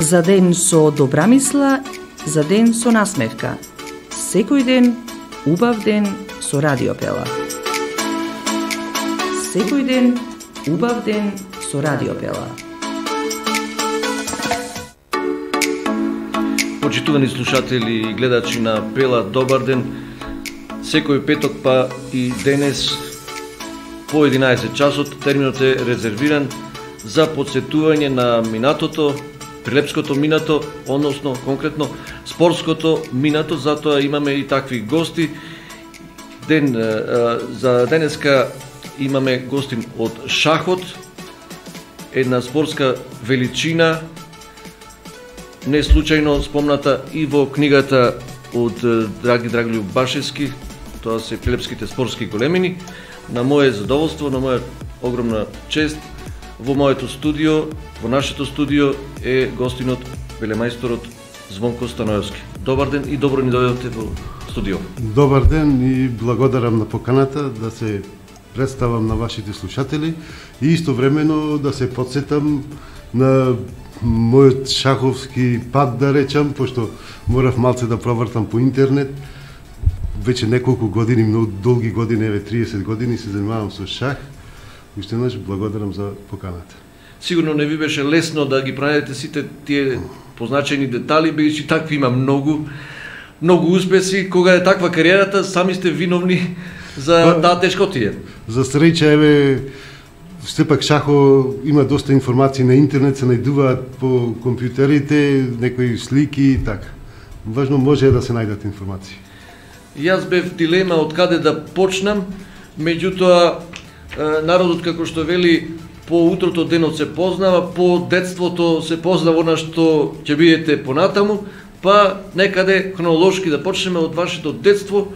За ден со добра мисла, за ден со насмевка. Секој ден, убав ден со Радио Пела. Секој ден, убав ден со Радио Пела. Почитувани слушатели и гледачи на Пела, добар ден. Секој петок па и денес по 11 часот терминот е резервиран за подсетување на минатото, прилепското минато, односно конкретно спортското минато, затоа имаме и такви гости. За денеска имаме гостин од шахот, една спортска величина, не случајно спомната и во книгата од Драги Драголјуб Башевски, тоа се прилепските спортски големини. На моје задоволство, на моја огромна чест, во моето студио, во нашето студио е гостинот, велемајсторот Звонко Станоевски. Добар ден и добро ни дојдовте во студио. Добар ден и благодарам на поканата да се представам на вашите слушатели и истовремено да се подсетам на мојот шаховски пат, да речам, пошто морав малце да провртам по интернет. Веќе неколку години, многу долги години, 30 години се занимавам со шах. Уште еднаш благодарам за поканата. Сигурно не ви беше лесно да ги пронајдете сите тие позначени детали, бидејќи такви има многу успеси. Кога е таква кариерата, сами сте виновни за таа тешкотија. За среќа, сепак шахо има доста информации на интернет, се најдуваат по компјутерите, некои слики и така. Важно може да се најдат информации. Јас бев дилема од каде да почнам, меѓутоа народот, како што вели, по утрото денот се познава, по детството се познава она што ќе бидете понатаму, па некаде хронолошки да почнеме од вашето детство,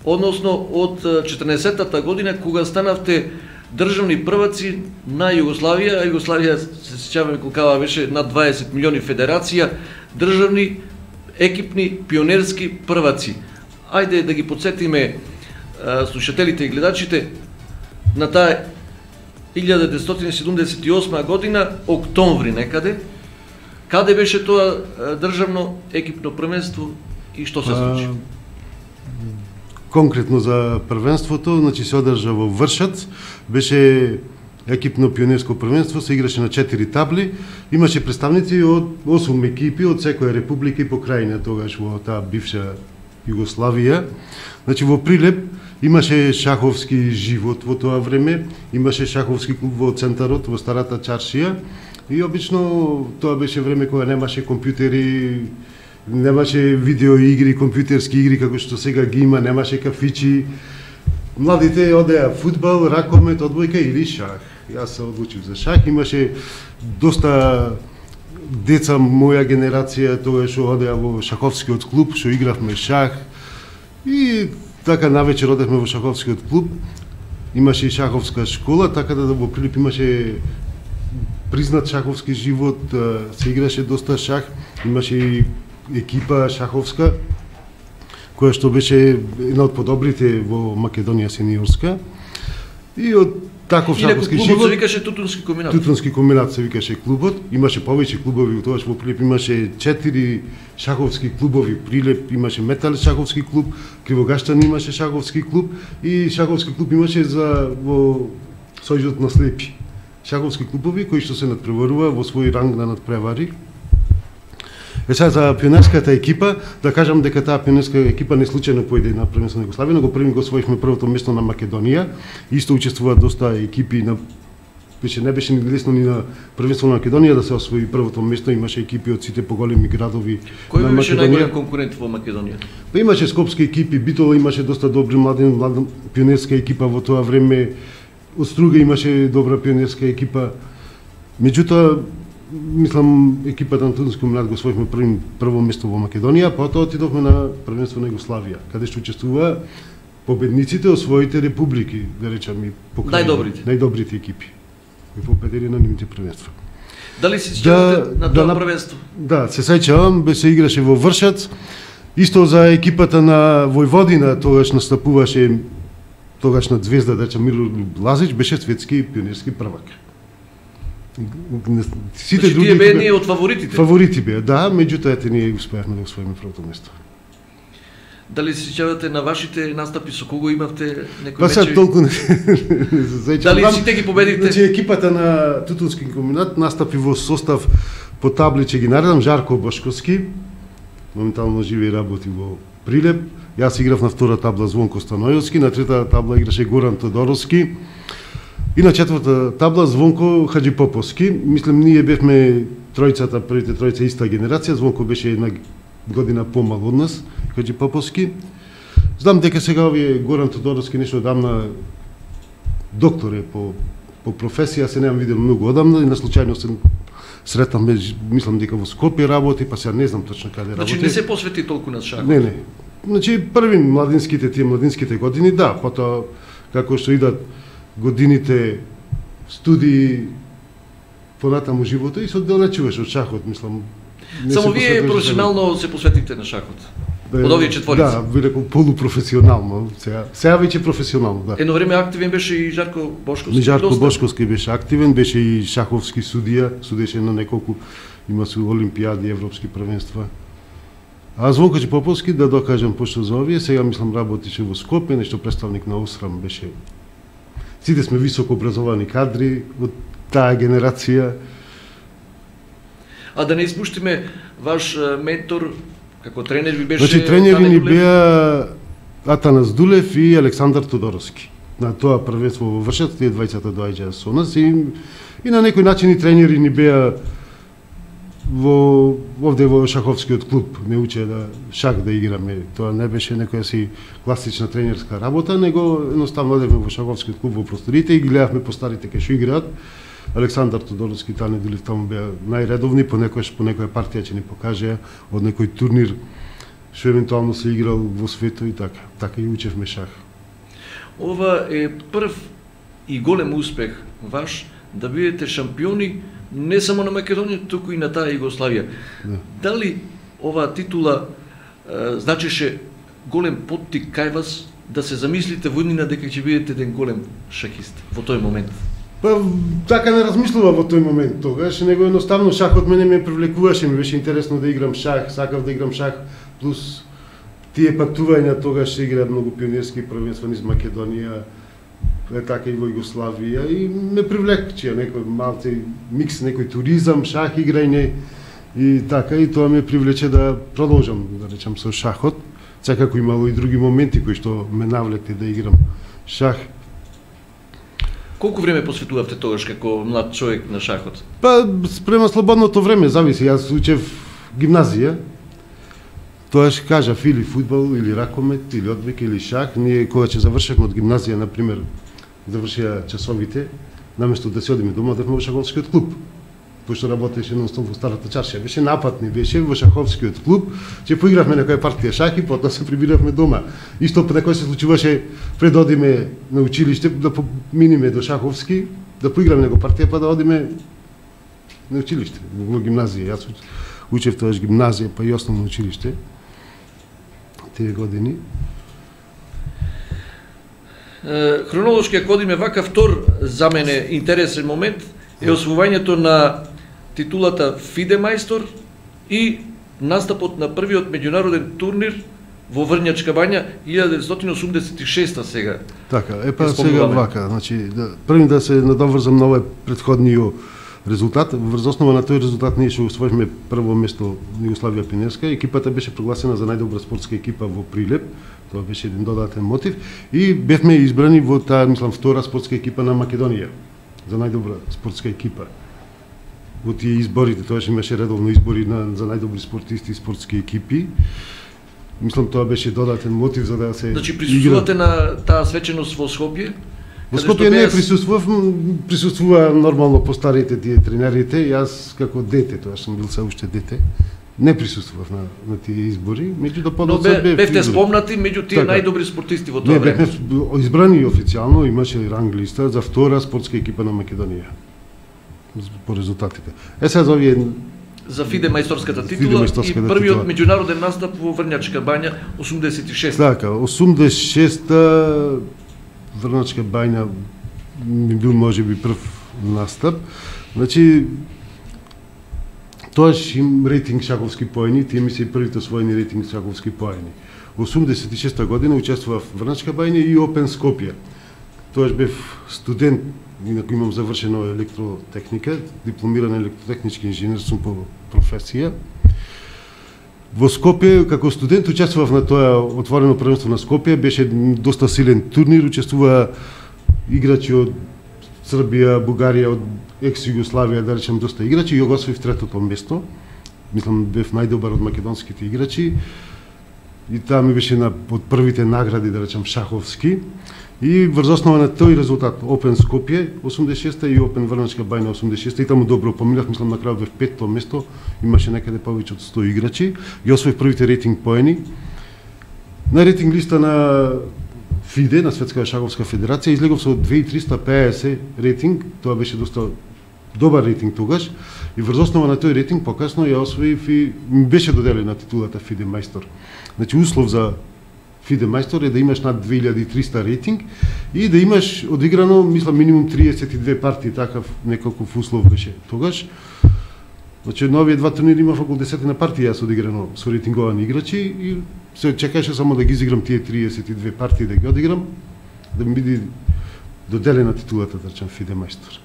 односно од 14-та година, кога станавте државни прваци на Југославија, а Југославија, се сеќаваме колкава беше, над 20 милиони федерација, државни, екипни, пионерски прваци. Ајде да ги подсетиме слушателите и гледачите на таа 1978 година, октомври некаде, каде беше тоа државно екипно првенство и што се случи? Конкретно за првенството, значи се одржа во Вршац, беше екипно пионерско првенство, се играше на 4 табли, имаше представници од 8 екипи од секоја република и покрајна тогаш во таа бивша Југославија. Значи во Прилеп имаше шаховски живот во тоа време, имаше шаховски клуб во центарот, во старата чаршија и обично тоа беше време кога немаше компјутери, немаше видеоигри, компјутерски игри како што сега ги има, немаше кафичи. Младите одеа фудбал, ракомет, одбојка или шах. Јас се одлучив за шах, имаше доста деца моја генерација тогаш што одеа во шаховскиот клуб, што игравме шах и така навечер одевме во шаховскиот клуб. Имаше и шаховска школа, така да во Прилеп имаше признат шаховски живот, се играше доста шах, имаше и екипа шаховска, која што беше една од подобрите во Македонија сениорска. И од таков шаховски живот... се викаше Тутунски комбинат. Тутунски комбинат се викаше клубот. Имаше повеќе клубови, тогаш во Прилеп имаше 4 шаховски клубови. Прилеп имаше Метал шаховски клуб, Кривогаштан имаше шаховски клуб и шаховски клуб имаше во Сојузот на слепи. Шаховски клубови кои што се надпреварува во свој ранг на надпревари. Сега за пионерската екипа, да кажам дека таа пионерска екипа не случајно појде на првенство на Југославија, но го освоивме првото место на Македонија. Исто учествуваат доста екипи на не беше ни лесно ни на првенство на Македонија да се освои првото место, имаше екипи од сите поголеми градови на Македонија. Кој беше најголем конкурент во Македонија? Па имаше скопски екипи, Битола имаше доста добри млада пионерска екипа во тоа време. Од Струга имаше добра пионерска екипа. Меѓутоа, мислам, екипата на Тутунски комбинат го освоивме прво место во Македонија, потоа отидовме на првенство на Југославија, каде што учествува победниците од своите републики, да речам и најдобрите екипи кои победили на нивните првенства. Дали се сеќавате на тоа првенство? Да, се сеќавам, се играше во Вршац. Исто за екипата на Војводина, тогаш настапуваше тогашна звезда, да речам Мирољуб Лазич, беше светски пионерски првак. Сите други тие беа ние од фаворитите. Фаворити беа, да, меѓутоа ете ние успеавме да освоиме првото место. Дали се сеќавате на вашите настапи, со кого имавте некои мечеви? Па сега толку не се сеќавам. Дали сите ги победивте? Значи екипата на Тутунски комбинат настапи во состав по табличе ги наредам Жарко Бошковски, моментално живее и работи во Прилеп. Јас играв на втора табла Звонко Станојовски, на трета табла играше Горан Тодоровски и на четврта табла Звонко Хаджипоповски. Мислам, ние бевме тројцата, првите тројца иста генерација, Звонко беше една година помал од нас, Хаджипоповски. Знам дека сега овие Горан Тодоровски нешто одамна доктор е по професија, се немам видел многу одамна и на случајно се сретам, мислам дека во Скопје работи, па сега не знам точно каде работи. Значи не се посвети толку на шахот? Не. Значи први младинските години, да, потоа како што идат годините студии понатаму живото и се оддалечуваш од шахот, мислам. Само вие професионално се посветите на шахот? Од овие четворици? Да, би рекол полупрофесионално, сега веќе професионално, да. Едно време активен беше и Жарко Бошковски. Жарко Бошковски беше активен, беше и шаховски судија, судеше на неколку, има се олимпијади, европски првенства. А Звонко Хаджипоповски, да докажам пошто за овие, сега мислам работише во Скопје, нешто представник на ОСРАМ беше. Сите сме високо образовани кадри од таа генерација. А да не испуштиме ваш ментор, како тренер ви беше... Значи тренери ни беа Атанас Дулев и Александар Тодоровски. На тоа првенство во Вршец, тие двајцата доаѓаа со нас и на некој начин и тренери ни беа овде во шаховскиот клуб. Не учеа да шах да играме. Тоа не беше некоја си класична тренерска работа, него едноставно одевме во шаховскиот клуб во просторите и ги гледавме по старите кај што играат. Александар Тодоровски, Тане Дулев таму беа најредовни, по некоја партија ќе ни покажеа од некој турнир што евентуално се играл во светот и така. Така и учевме шах. Ова е прв и голем успех ваш да бидете шампиони не само на Македонија, туку и на таа Југославија. Да. Дали оваа титула значеше голем поттик кај вас да се замислите во иднина дека ќе бидете еден голем шахист во тој момент? Па така не размислува во тој момент тогаш, него едноставно шахот мене ме привлекуваше, ми беше интересно да играм шах, сакав да играм шах, плюс тие патувања тогаш се играат многу пионерски првенства низ Македонија, така и во Југославија и ме привлекчија некој малце микс, некој туризам, шах играње и така и тоа ме привлече да продолжам, да речам, со шахот. Секако имало и други моменти кои што ме навлекте да играм шах. Колку време посветувавте тогаш како млад човек на шахот? Па спрема слободното време, зависи. Јас учев гимназија. Тоаш кажав или фудбал, или ракомет, или одбојка, или шах. Ние кога ќе завршевме од гимназија, на пример, завршија часовите, наместо да се одиме дома, одевме во шаховскиот клуб. Пошто работеше нон-стоп во старата чаршија. Беше напатни, беше во шаховскиот клуб, ќе поигравме некоја партија шах и потоа се прибиравме дома. Исто некој се случуваше пред да одиме на училиште, да поминиме до шаховски, да поиграме некоја партија, па да одиме на училиште, во гимназија. Јас учев тоаш гимназија, па и основно училиште, тие години. Хронолошки, ако одиме вака, втор за мене интересен момент е освојањето на титулата FIDE мајстор и настапот на првиот меѓународен турнир во Врњачка бања 1986 сега. Така, па сега вака, значи првим да се надоврзам на овој претходниот резултат. Врз основа на тој резултат ние што освоивме прво место на Југославија пионерска. Екипата беше прогласена за најдобра спортска екипа во Прилеп. Тоа беше еден додатен мотив и бевме избрани во таа, мислам, втора спортска екипа на Македонија за најдобра спортска екипа. Во тие изборите, тоаш имаше редовно избори за најдобри спортисти и спортски екипи. Мислам, тоа беше додатен мотив за да се... Значи, присуствувате на таа свеченост во Скопје? Во Скопје не присуствува нормално по старите тие тренерите, јас како дете, тоа сум бил се уште дете, не присуствував на тие избори, меѓутоа подоцна бевте спомнати меѓу тие најдобри спортисти во тоа време. Не, бевме избрани официјално, имаше ранг листа за втора спортска екипа на Македонија по резултатите. Сега за овие за FIDE мајсторската титула и првиот меѓународен настап во Врњачка бања 86. Така, 86-та Врњачка бања ми бил можеби прв настап. Значи, тоаш им рейтинг шаховски поени, тие ми се првите освоени рейтинг шаховски поени. Во 86 година учествував во Врначка бања и Опен Скопје. Тоаш бев студент, инаку имам завршено електротехника, дипломиран електротехнички инженер сум по професија. Во Скопје, како студент, учествував на тоа отворено првенство на Скопје, беше доста силен турнир, учествува играчи од Србија, Бугарија, од екс-Југославија, да речем, доста играчи, и ја го освоив третото место. Мислам, бев најдобар од македонските играчи. И таа ми беше од првите награди, да речем, шаховски. И врз основа на тој резултат, Опен Скопје 86-та и Опен Врначка бања 86-та, и таму добро поминав, мислам на крајот бев петто место, имаше некаде повеќе од 100 играчи, и освоив првите рейтинг поени. На рейтинг листа на ФИДЕ, на Светска шаховска федерација, излегов со 2350 рейтинг, тоа беше доста добар рейтинг тогаш, и врз основа на тој рейтинг покасно ја освоив и ми беше доделена титулата ФИДЕ мајстор. Значи, услов за ФИДЕ мајстор е да имаш над 2300 рейтинг и да имаш одиграно, мислам, минимум 32 партии, такав неколков услов беше тогаш. Значи, на овие два турнири имав околу 10 на партии јас одиграно со рейтинговани играчи и се чекаше само да ги изиграм тие 32 партии, да ги одиграм, да ми биде доделена титулата, да речем, ФИДЕ мајстор.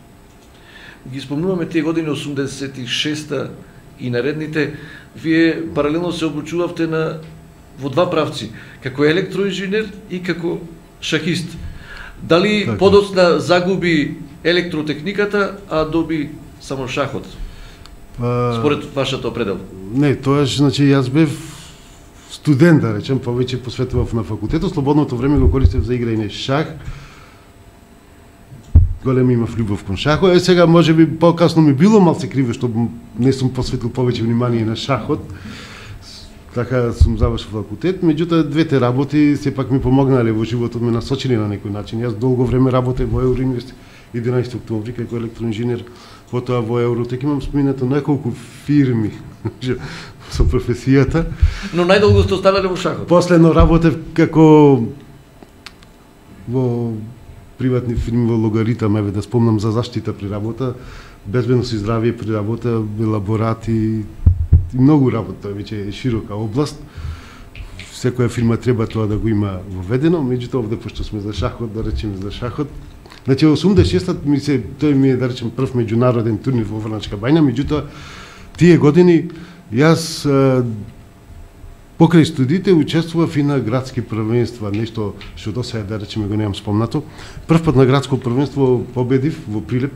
Ги спомнуваме тие години 86-та и наредните, вие паралелно се обучувавте во два правци, како електроинженер и како шахист. Дали така подоцна загуби електротехниката, а доби само шахот? Според вашата определ? Не, тоаш, значи, јас бев студент, да речем, повеќе посветував на факултетот, слободното време го користев за играње шах. Голем имав љубов кон шахот. Сега може би покасно ми било малце криво што не сум посветил повеќе внимание на шахот. Така сум завршил факултет, меѓутоа двете работи сепак ми помогнале во животот, ме насочени на некој начин. Јас долго време работев во Евроинвест 11 октомври како електроинженер, потоа во Евротек имам споминато неколку фирми со професијата. Но најдолго сте останале во шахот? Последно работев како во приватни фирми во Логаритам, еве да спомнам за заштита при работа, безбедност и здравје при работа, лаборати и многу работа, веќе е широка област. Секоја фирма треба тоа да го има воведено, меѓутоа овде пошто сме за шахот, да речеме за шахот. Значи 86-та тој ми е, да речем, прв меѓународен турнир во Врначка бања, меѓутоа тие години јас покрај студиите учествував и на градски првенства, нешто што досега, да речеме, го немам спомнато. Прв пат на градско првенство победив во Прилеп.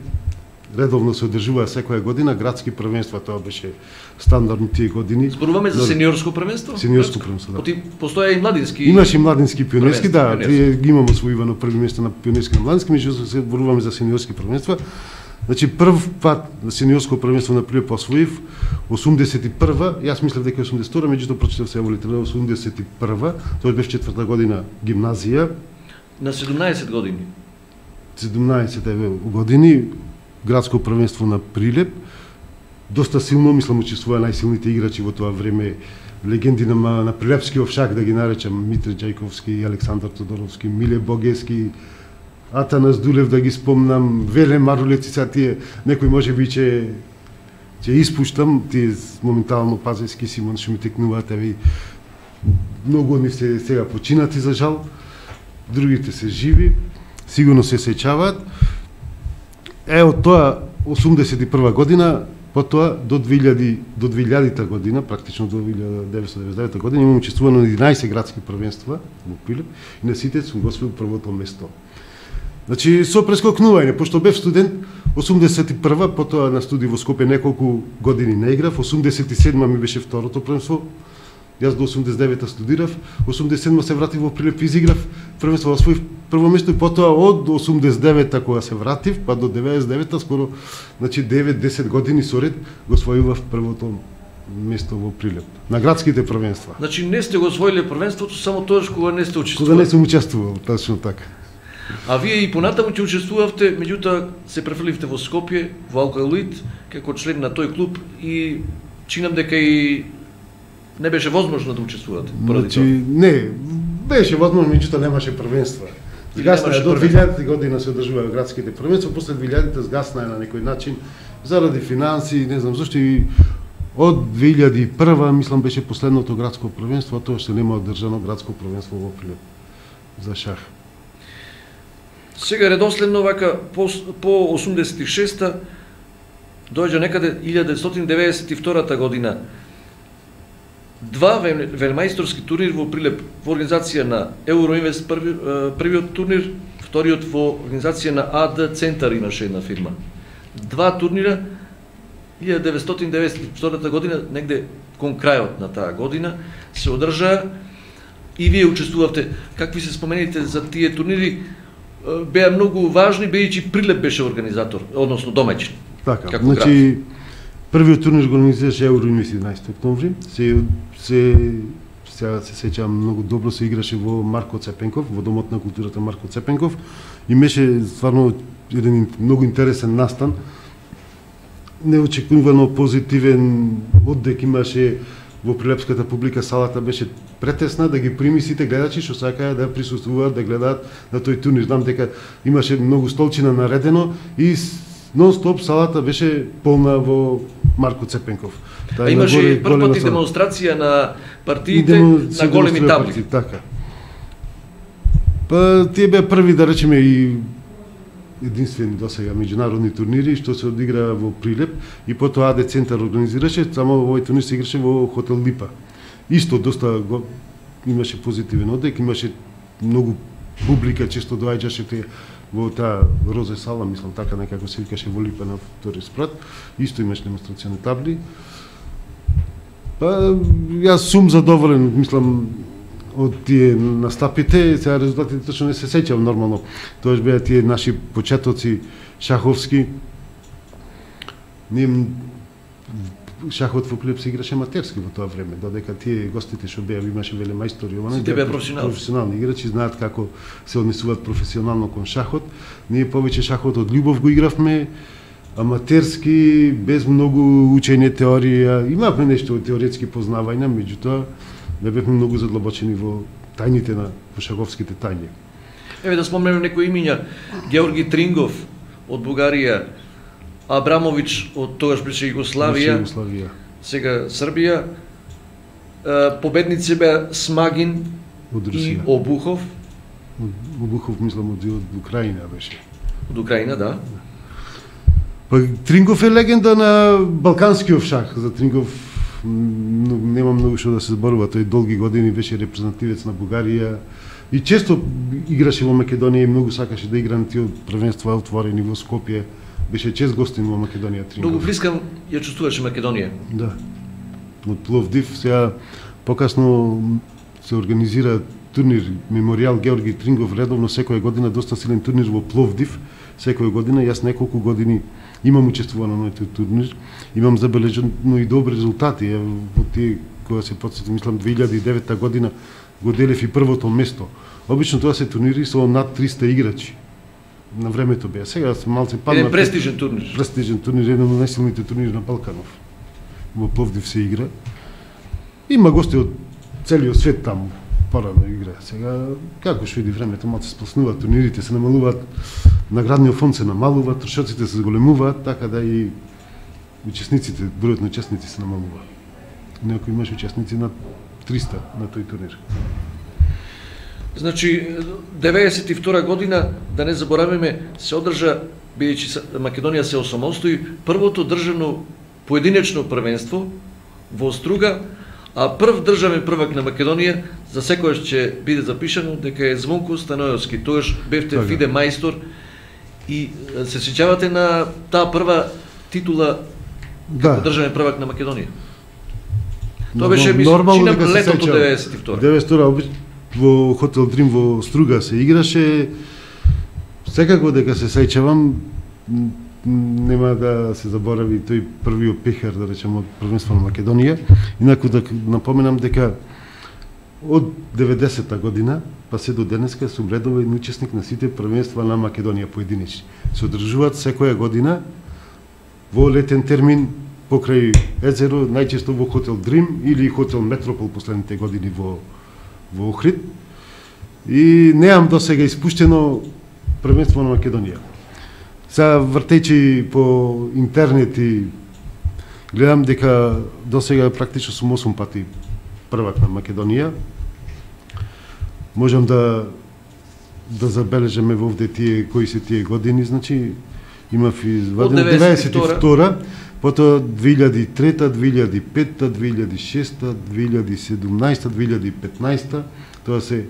Редовно се одржуваа секоја година градски првенства, тоа беше стандардно тие години. Зборуваме за сениорско првенство? Сениорско првенство, да. Постоја и младински. Имаше и младински и пионерски, да, ги имаме освоивано први место на пионерски и на младински, меѓутоа се зборуваме за сениорски првенства. Значи прв пат на сениорско првенство на Прилеп освоив 81-ва, јас мислев дека 82-ра, меѓутоа прочитав се еволитера 81-ва, тоа беше четврта година гимназија. На 17 години. 17 години градско првенство на Прилеп. Доста силно, мислам, учествуваа најсилните играчи во тоа време, легенди на прилепскиот шах, да ги наречам, Митре Ѓајковски, Александар Тодоровски, Миле Богески, Атанас Дулев, да ги спомнам, Веле Марулеци, са тие, некој може би ќе испуштам, тие моментално Пазески, Симон, што ми текнуваат, еви, многу од нив се сега починати, за жал, другите се живи, сигурно се сеќаваат. Од тоа 81 година, потоа до 2000-та година, практично до 1999 година, имам учествувано на 11 градски првенства во Прилеп и на сите сум го освоил првото место. Значи, со прескокнување, пошто бев студент, 81-ва, потоа на студии во Скопје неколку години не играв, 87-ма ми беше второто првенство, јас до 89-та студирав, 87-ма се вратив во Прилеп, изиграв првенство, освоив прво место и потоа од 89-та кога се вратив, па до 99-та, скоро, значи 9-10 години соред го освојував првото место во Прилеп, на градските првенства. Значи не сте го освоиле првенството само тогаш кога не сте учествували? Кога не сум учествувал, точно така. А вие и понатаму ќе учествувавте, меѓутоа се префрливте во Скопје, во Алкалоид, како член на тој клуб и чинам дека и не беше возможно да учествувате поради тоа. Не, беше возможно, меѓутоа немаше првенства. Згасна е, до 2000 година се одржуваа градските првенства, после 2000 згасна е на некој начин, заради финанси, не знам зашто, и од 2001 мислам беше последното градско првенство, а тоа што нема одржано градско првенство во Прилеп за шах. Сега редоследно вака по 86-та доаѓа некаде 1992 година. Два велмајсторски турнир во Прилеп во организација на Euroinvest првиот турнир, вториот во организација на AD Центар имаше една фирма. Два турнира 1994 година, негде кон крајот на таа година, се одржаа и вие учествувавте. Какви се спомените за тие турнири? Беа многу важни, бидејќи Прилеп беше организатор, односно домаќин. Така, значи првиот турнир го организираше Euroinvest 11 октомври. Сега се сеќавам многу добро, се играше во Марко Цепенков, во Домот на културата Марко Цепенков, и беше стварно еден многу интересен настан. Неочекувано позитивен оддек имаше во прилепската публика, салата беше претесна да ги прими сите гледачи што сакаа да присуствуваат, да гледаат на тој турнир. Знам дека имаше многу столчина наредено и нон-стоп салата беше полна во Марко Цепенков. А имаше прв пат и демонстрација на партиите на големи табли. Така. Па тие беа први, да речеме, и единствени досега меѓународни турнири што се одигра во Прилеп, и потоа АД Центар организираше, само овој турнир се играше во хотел Липа. Исто доста имаше позитивен одек, имаше многу публика, често доаѓаше во таа Розе сала, мислам така некако се викаше во Липа на втори спрат. Исто имаше демонстрациони табли. Па јас сум задоволен, мислам, од тие настапите. Сега резултатите точно не се сеќавам нормално. Тоа беа тие наши почетоци шаховски. Шахот во Прилеп се играше аматерски во тоа време, додека тие гостите што беа, имаше велемајстори, сите беа професионални играчи, знаат како се однесуваат професионално кон шахот. Ние повеќе шахот од љубов го игравме, аматерски, без многу учење теорија. Имавме нешто теоретски познавања, меѓутоа не бевме многу задлабочени во тајните на шаховските тајни. Еве да спомнеме некои имиња: Георги Трингов од Бугарија, Абрамович од тогаш беше Југославија, сега Србија. Победници беа Смагин и Обухов. Обухов мислам од Украина беше. Од Украина, да. Па Трингов е легенда на балканскиот шах. За Трингов нема многу што да се зборува. Тој долги години беше репрезентативец на Бугарија и често играше во Македонија и многу сакаше да игра на тие првенства отворени во Скопје. Беше чест гостин во Македонија Трингов. Многу близка ја чувствуваше Македонија. Да. Од Пловдив. Сега покасно се организира турнир Меморијал Георги Трингов редовно секоја година, доста силен турнир во Пловдив. Секоја година, јас неколку години имам учествувано на тој турнир, имам забележено и добри резултати. Во тие, кога се потсетам, мислам 2009 година го делев и првото место. Обично тоа се турнири со над 300 играчи. На времето беа. Сега се малце падна. Еден престижен турнир. Престижен турнир, еден од најсилните турнири на Балканов. Во Пловдив се игра. Има гости од целиот свет таму. Порано игра. Сега, како што иди времето, малце сплоснуваат турнирите, се намалуваат, наградниот фонд се намалува, трошоците се зголемуваат, така да и учесниците, бројот на учесници се намалува. Некој имаше учесници над 300 на тој турнир. Значи, 92 година, да не забораваме, се одржа, бидејќи Македонија се осамостои, првото државно поединечно првенство во Струга, а прв државен prvак на Македонија, за секојаш ќе биде запишано дека е Звонко Станојовски. Тогаш бевте фиде мајстор и се сеќавате на таа прва титула како државен prvак на Македонија. Тоа беше чинам летото 92. 92 во хотел Дрим во Струга се играше. Секако дека се сеќавам, нема да се заборави тој првиот пехар, да речем, од првенство на Македонија. Инаку да напоменам дека од 90-та година па се до денеска сум редовен учесник на сите првенства на Македонија поединечни. Се одржуваат секоја година во летен термин покрај езеро, најчесто во хотел Дрим или хотел Метропол последните години во Охрид. и неам досега испуштено првенство на Македонија. Сега вртејќи по интернет и гледам дека досега практично сум 8 пати првак на Македонија. Можам да забележаме вовде кои се тие години, значи имав извадено 92, потоа 2003, 2005, 2006, 2017, 2015, тоа се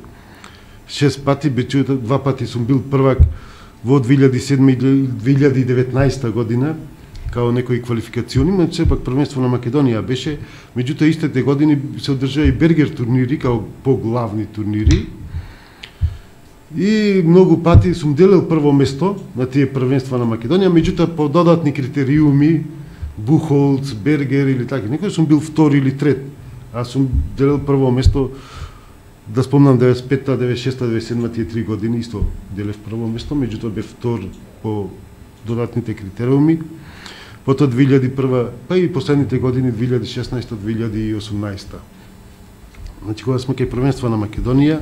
6 пати, бичу 2 пати сум бил првак во 2007 и 2019 година, као некои квалификациони, но сепак првенство на Македонија беше, меѓутоа истите години се одржаа и бергер турнири, као поглавни турнири, и многу пати сум делил прво место на тие првенства на Македонија, меѓутоа по додатни критериуми, Бухолц, Бергер или така, некој сум бил втори или трет, а сум делил прво место, да спомнам 95-та, 96-та, 97-та, тие 3 години исто делев прво место, меѓутоа бев втор по додатните критериуми, потоа 2001, па и последните години 2016-та, 2018-та. Значи, кога сме кај првенства на Македонија,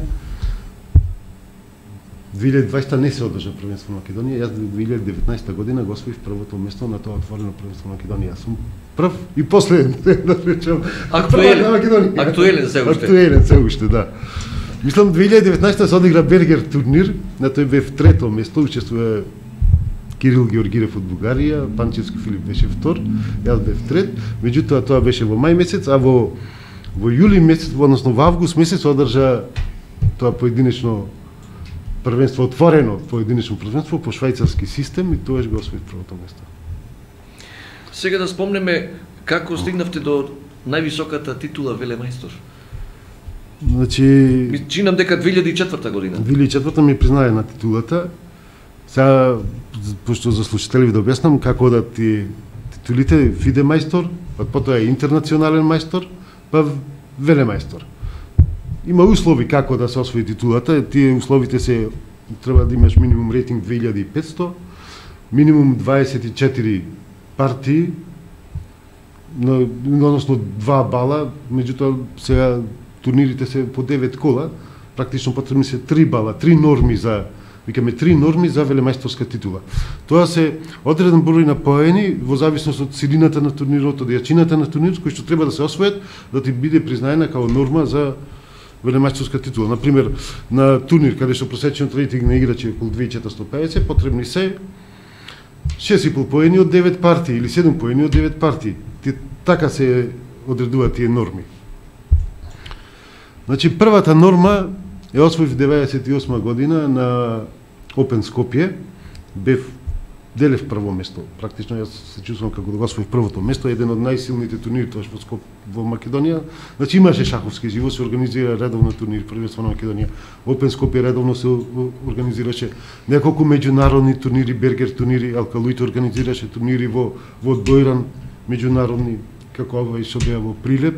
2020 не се одржа првенство на Македонија, јас 2019 година го освоив првото место на тоа отворено првенство на Македонија. Јас сум прв и последен, да речам. Актуелен се уште. Актуелен се уште, да. Мислам 2019 се одигра Бергер турнир, на тој бев трето место, учествува Кирил Георгиев од Бугарија, Панчевски Филип беше втор, јас бев трет, меѓутоа тоа беше во мај месец, а во јули месец, односно во август месец одржа тоа поединечно првенство, отворено поединечно првенство по швајцарски систем и тоаш го освои првото место. Сега да спомнеме како стигнавте до највисоката титула велемајстор. Значи, чинам дека 2004 година. 2004 ми признае на титулата. Сега, пошто за слушателите да објаснам како да ти титулите фиде мајстор, па потоа е интернационален мајстор, па велемајстор. Има услови како да се освои титулата, тие условите се треба да имаш минимум рейтинг 2500, минимум 24 партии, односно 2 бала, меѓутоа сега турнирите се по 9 кола, практично потребни се 3 бала, 3 норми за, викаме 3 норми за велемајсторска титула. Тоа се одреден број на поени во зависност од силината на турнирот, од јачината на турнирот, кои што треба да се освојат да ти биде признаена како норма за велемајсторска титула. Например, на турнир каде што просечниот рейтинг на играчи е околу 2450, потребни се 6,5 поени од 9 партии или 7 поени од 9 партии. Така се одредуваат тие норми. Значи, првата норма е освоив 98 година на Open Skopje, делев прво место. Практично јас се чувствувам како да го освоив првото место, еден од најсилните турнири тоа во Македонија. Значи имаше шаховски живот, се организира редовно турнир првенство на Македонија. Open Skopje редовно се организираше неколку меѓународни турнири, бергер турнири, Алкалуит организираше турнири во Дојран, меѓународни, како ова и што беа во Прилеп.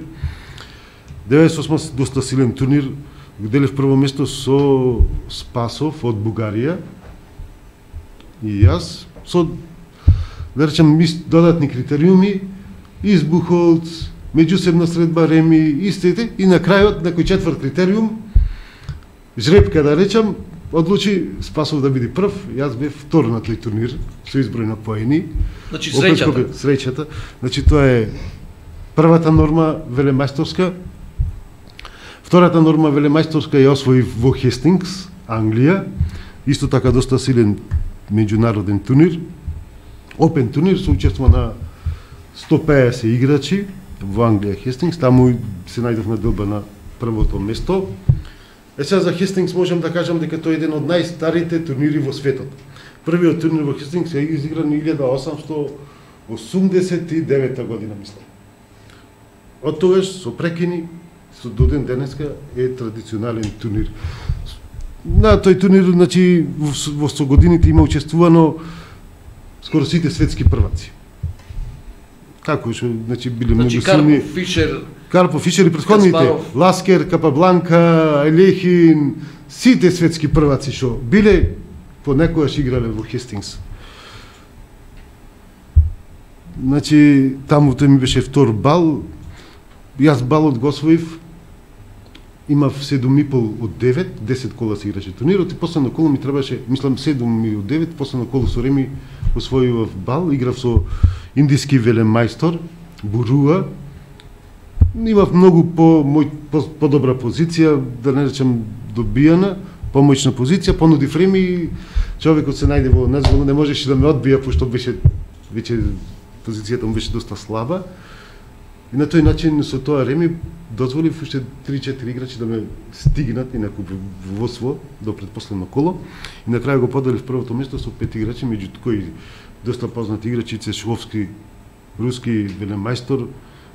98 доста силен турнир, делев прво место со Спасов од Бугарија и јас со, да речем, додатни критериуми, Избухолц, меѓусебна средба Реми, истите, и на крајот, некој четврт критериум, жребка, да речем, одлучи Спасов да биде прв, јас бев втор на тој турнир, со изброј на поени. Значи, среќата. Среќата. Значи, тоа е првата норма велемајсторска. Втората норма велемајсторска ја освоив во Хестингс, Англија, исто така доста силен меѓународен турнир, Open турнир со учество на 150 играчи во Англија Хестингс, таму се најдов на делба на првото место. Сега за Хестингс можам да кажам дека тој е еден од најстарите турнири во светот. Првиот турнир во Хестингс е изигран 1889 година, мислам. Од тогаш со прекини до ден денеска е традиционален турнир. На тој турнир, значи, во со годините има учествувано скоро сите светски прваци. Како што, значи, биле многу силни. Карпов, Фишер и претходните, Каспаров, Ласкер, Капабланка, Елехин, сите светски прваци што биле понекогаш играле во Хестингс. Значи, таму тој ми беше втор бал, јас балот го освоив имав 7,5 од 9, 10 кола се играше турнирот и последно коло ми требаше, мислам 7 од 9, последно коло со Реми освојував бал, играв со индиски велемајстор, Буруа. Имав многу по-добра позиција, да не речем добијана, помоćна позиција, понуди Реми и човекот се најде во нас, не можеше да ме одбија, пошто беше веќе позицијата му беше доста слаба. И на тој начин со тоа Реми дозволив уште 3-4 играчи да ме стигнат и некој водство до предпоследно коло. И на крај го поделив првото место со 5 играчи, меѓу кои доста познати играчи, Цешковски, руски велемајстор,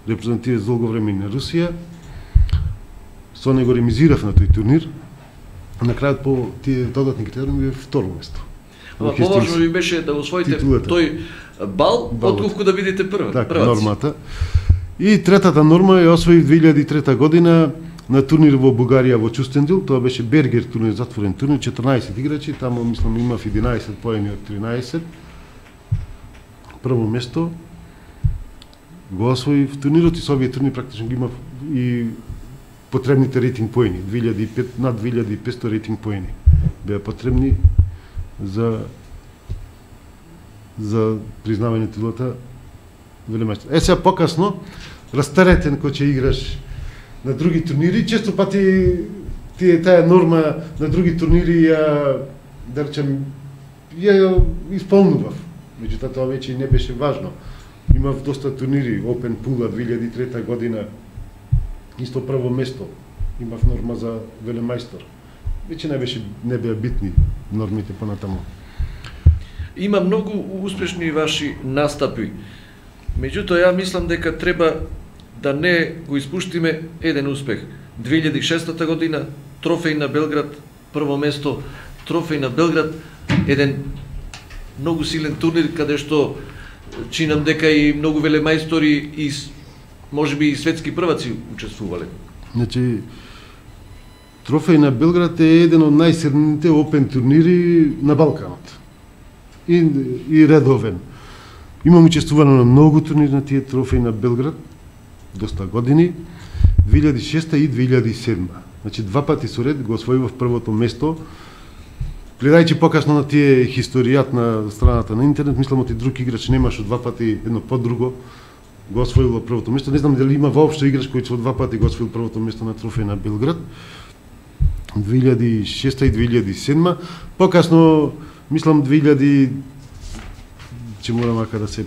репрезентирал долго време и на Русија. Со него ремизирав на тој турнир. На крајот по тие додатни критериуми бе второ место. Ама поважно ви беше да освоите тој бал, отколку да бидете прваци. Така, нормата. И третата норма ја освоив 2003 година на турнир во Бугарија во Чустендил. Тоа беше Бергер турнир, затворен турнир, 14 играчи, таму мислам имав 11 поени од 13. Прво место го освоив турнирот и со овие турнир практично ги имав и потребните рейтинг поени, над 2500 рейтинг поени беа потребни за признавање титулата велемајстор. Сега покасно, растаретен кој ќе играш на други турнири, често пати таа норма на други турнири ја, да речем, ја исполнував. Меѓутоа тоа веќе не беше важно. Имав доста турнири, Open Pula 2003 година, исто прво место. Имав норма за велемајстор. Веќе не беа битни нормите понатаму. Има многу успешни ваши настапи. Меѓутоа, ја мислам дека треба да не го испуштиме еден успех. 2006 година, трофеј на Белград, прво место, трофеј на Белград, еден многу силен турнир, каде што чинам дека и многу велемајстори и можеби и светски прваци учествувале. Значи, трофеј на Белград е еден од најсилните опен турнири на Балканот. И редовен. Имам учествувано на многу турнири на тие трофеи на Белград, доста години, 2006 и 2007. Значи, два пати со ред го освојував првото место. Гледајќи покасно на тие историјат на страната на интернет, мислам оти друг играч немаше два пати едно по друго го освоило првото место. Не знам дали има воопшто играч кој со два пати го освоил првото место на трофеј на Белград. 2006 и 2007. Покасно, мислам 2000 че морам ака да се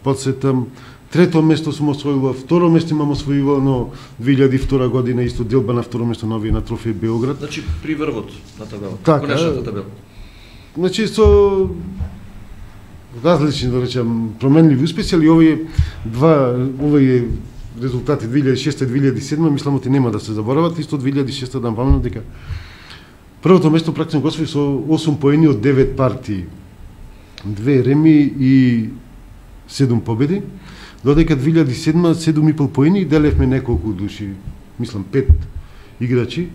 подсетам. Трето место сум освоила, второ место имам освоивано 2002 година, исто делба на второ место на овие на трофеј Белград. Значи при врвот на табелата, така, конечната табела. Значи со различни, да речем, променливи успеси, али овие резултати 2006 и 2007, мислам оти нема да се заборават, исто 2006 да паметам дека првото место практично го освои со 8 поени од 9 партии. 2 реми и 7 победи, додека 2007 7,5 поени и делевме неколку души, мислам 5 играчи,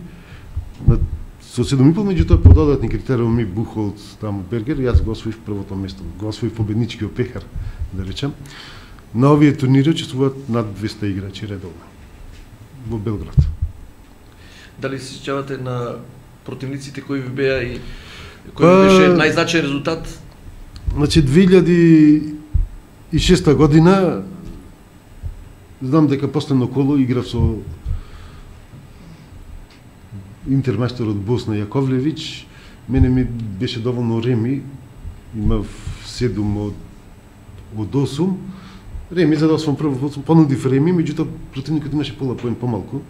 со 7,5, меѓутоа по додатни критериуми Бухолц, таму Бергер, јас го освоив првото место, го освоив победничкиот пехар, да речем. На овие турнири учествуваат над 200 играчи редовно во Белград. Дали се сеќавате на противниците кои ви беа и кој беше најзначаен резултат? Значи 2006 година знам дека последно коло играв со интермајстор од Босна Јаковлевиќ. Мене ми беше доволно реми, имав 7 од 8. Реми за да освојам прво, понудив реми, меѓутоа противникот имаше пола поен помалку.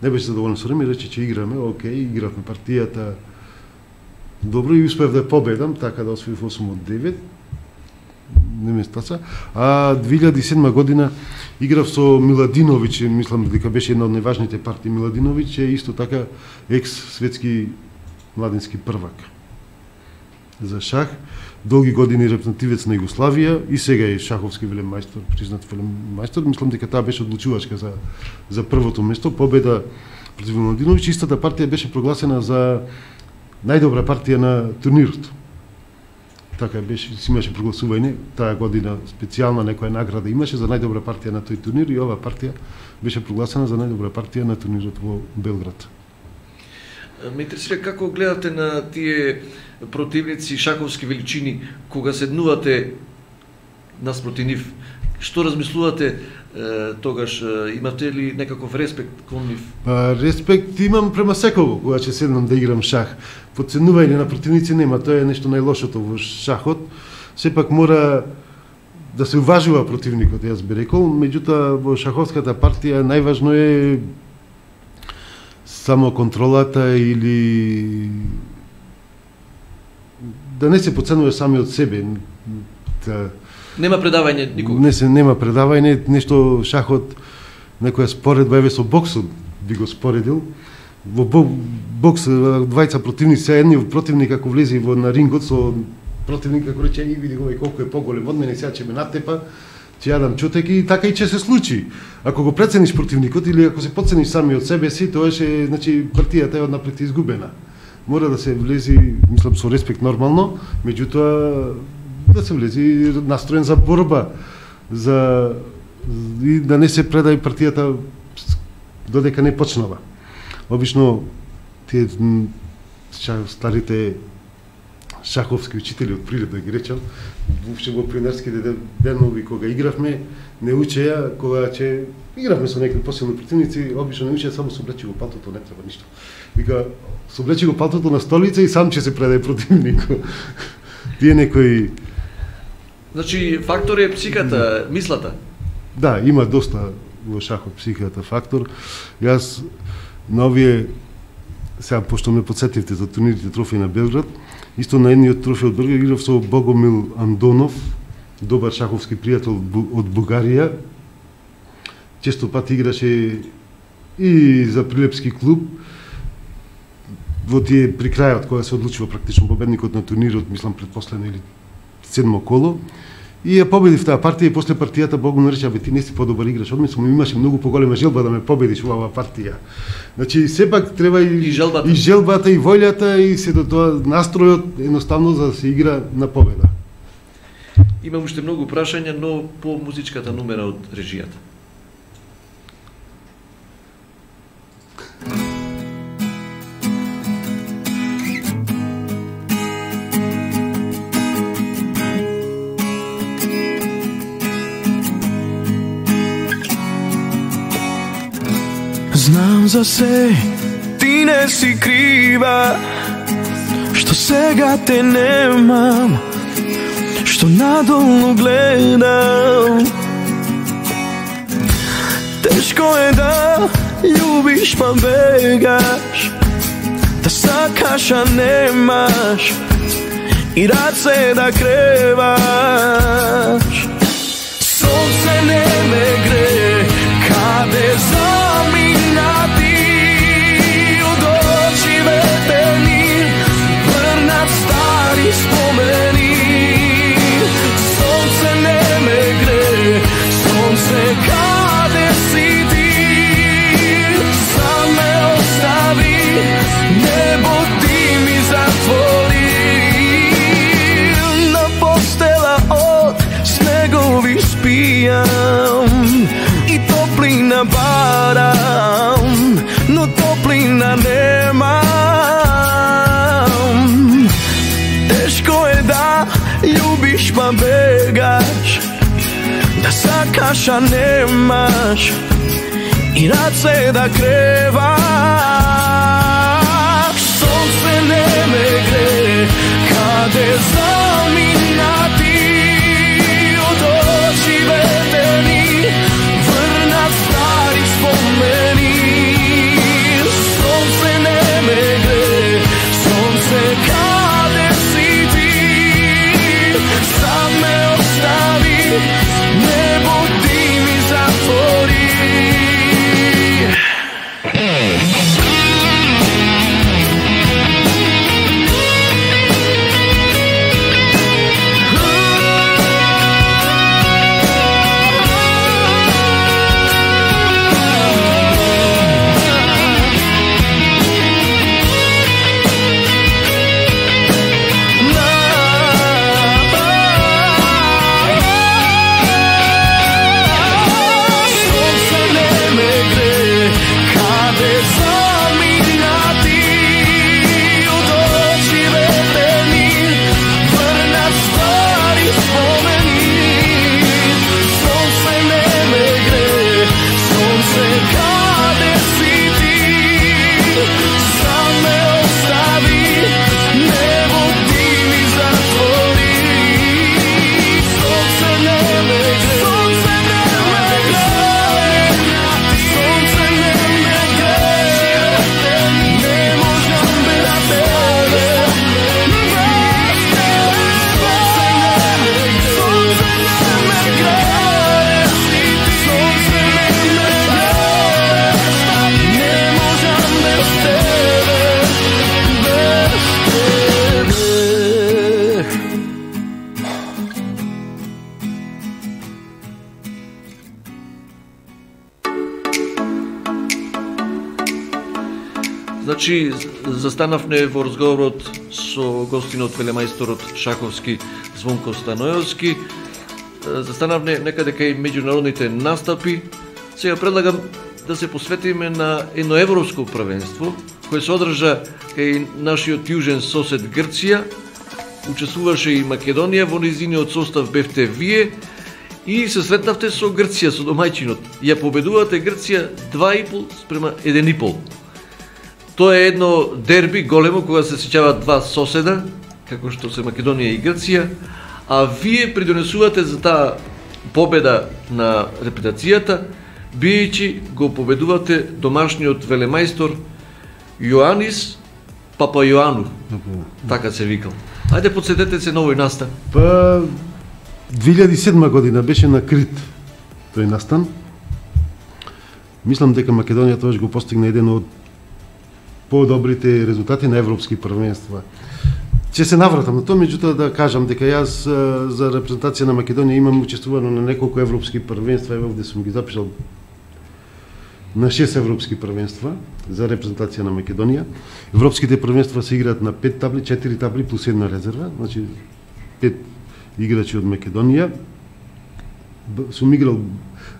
Не беше задоволен со реми, рече че играме, окей, игравме партијата добро и успев да победам, така да освоив 8 од 9. Не ме стаца. А 2007 година играв со Миладиновиќ, мислам дека беше една од најважните партии. Миладиновиќ е исто така екс-светски младински првак за шах, долги години репрезентативец на Југославија и сега е шаховски велемајстор, признат велемајстор. Мислам дека таа беше одлучувачка за првото место, победа против Миладиновиќ. Истата партија беше прогласена за најдобра партија на турнирот. така беше, си имаше прогласување, таа година специјална некоја награда имаше за најдобра партија на тој турнир и оваа партија беше прогласена за најдобра партија на турнирот во Белград. Ме интересира како гледате на тие противници шаковски величини кога седнувате наспроти нив. Што размислувате тогаш? Имате ли некаков респект кон нив? Респект имам према секого кога ќе седнам да играм шах. Подценување на противници нема, тоа е нешто најлошото во шахот. Сепак мора да се уважува противникот, јас би рекол, меѓутоа во шаховската партија најважно е само контролата или да не се подценува сами од себе. Нема предавање никога. Нема предавање, нешто шахот, некоја споредба еве со боксот би го споредил. Во бокс двајца противници, едниот противник ако влезе на рингот со противник како рече, види го колку е поголем од мене, сега ќе ме натепа, ќе јадам чутеки и така и ќе се случи. Ако го прецениш противникот или ако се подцениш сами од себе си, тоа е, значи партијата е однапред изгубена. Мора да се влези, мислам со респект нормално, меѓутоа да се влези настроен за борба, и да не се предај партијата додека не почнува. Обично тие старите шаховски учители од прилеп да ги речам, воопшто во пионерските денови кога игравме, не учеја кога ќе игравме со некои посилни противници, обично не учеја само со облечи го палтото, не треба ништо. Вика, со облечи го палтото на столица и сам ќе се предај противникот. Тие некои... Значи, фактор е психиката, мислата? Да, има доста во шахот психиката фактор. Јас на овие, сега пошто ме подсетивте за турнирите трофеи на Белград, исто на едниот трофеј од Белград играв со Богомил Андонов, добар шаховски пријател од Бугарија. Често пат играше и за Прилепски клуб. Во тие при крајот кога се одлучува практично победникот на турнирот, мислам предпоследно или седмо коло, и ја победив таа партија и после партијата Бог му рече: "Абе ти не си подобар играч од мене, имаше многу поголема желба да ме победиш во оваа партија." Значи сепак треба и желбата и волјата и се до тоа настројот едноставно за да се игра на победа. Имам уште многу прашања, но по музичката номера од режијата. Знам за се, ти не си крива, што сега те немам, што надолу гледам. Тешко е да љубиш па бегаш, да сакаш а немаш, и раце да креваш. Сонце не ме гре, каде замина ти, од очи ветени, врнат стари спомени. Сонце не ме гре, сонце каде си ти, сам ме остави, небо ти ми затвори. На постела од снегови спијам, топлина барам, но топлина немам. Тешко е да љубиш па бегаш, да сакаш а немаш, и раце да креваш. Сонце не ме гре, каде замина ти, од очи ветени, стари спомени. Сонце не ме гре, сонце каде си ти, сам ме остави, небо ти ми затвори. Значи, застанавме во разговорот со гостинот велемајсторот шаковски Звонко Станојовски. Застанавме некаде кај меѓународните настапи. Сега предлагам да се посветиме на едно европско првенство кое се одржа кај нашиот јужен сосед Грција. Учествуваше и Македонија, во нејзиниот состав бевте вие и се сретнавте со Грција, со домајчинот. Ја победувате Грција 2,5 спрема 1,5. Тоа е едно дерби големо кога се сеќаваат два соседа, како што се Македонија и Грција, а вие придонесувате за таа победа на репутацијата, биејќи го победувате домашниот велемајстор Јоанис Папајоану, така се викал. Ајде подсетете се на овој настан. Па 2007 година беше на Крит тој настан. Мислам дека Македонија тогаш го постигна еден од подобрите резултати на европски првенства. Ќе се навратам на тоа, меѓутоа да кажам дека јас за репрезентација на Македонија имам учествувано на неколку европски првенства, еве овде сум ги запишал на 6 европски првенства за репрезентација на Македонија. Европските првенства се играат на 5 табли, 4 табли плюс една резерва, значи 5 играчи од Македонија. Сум играл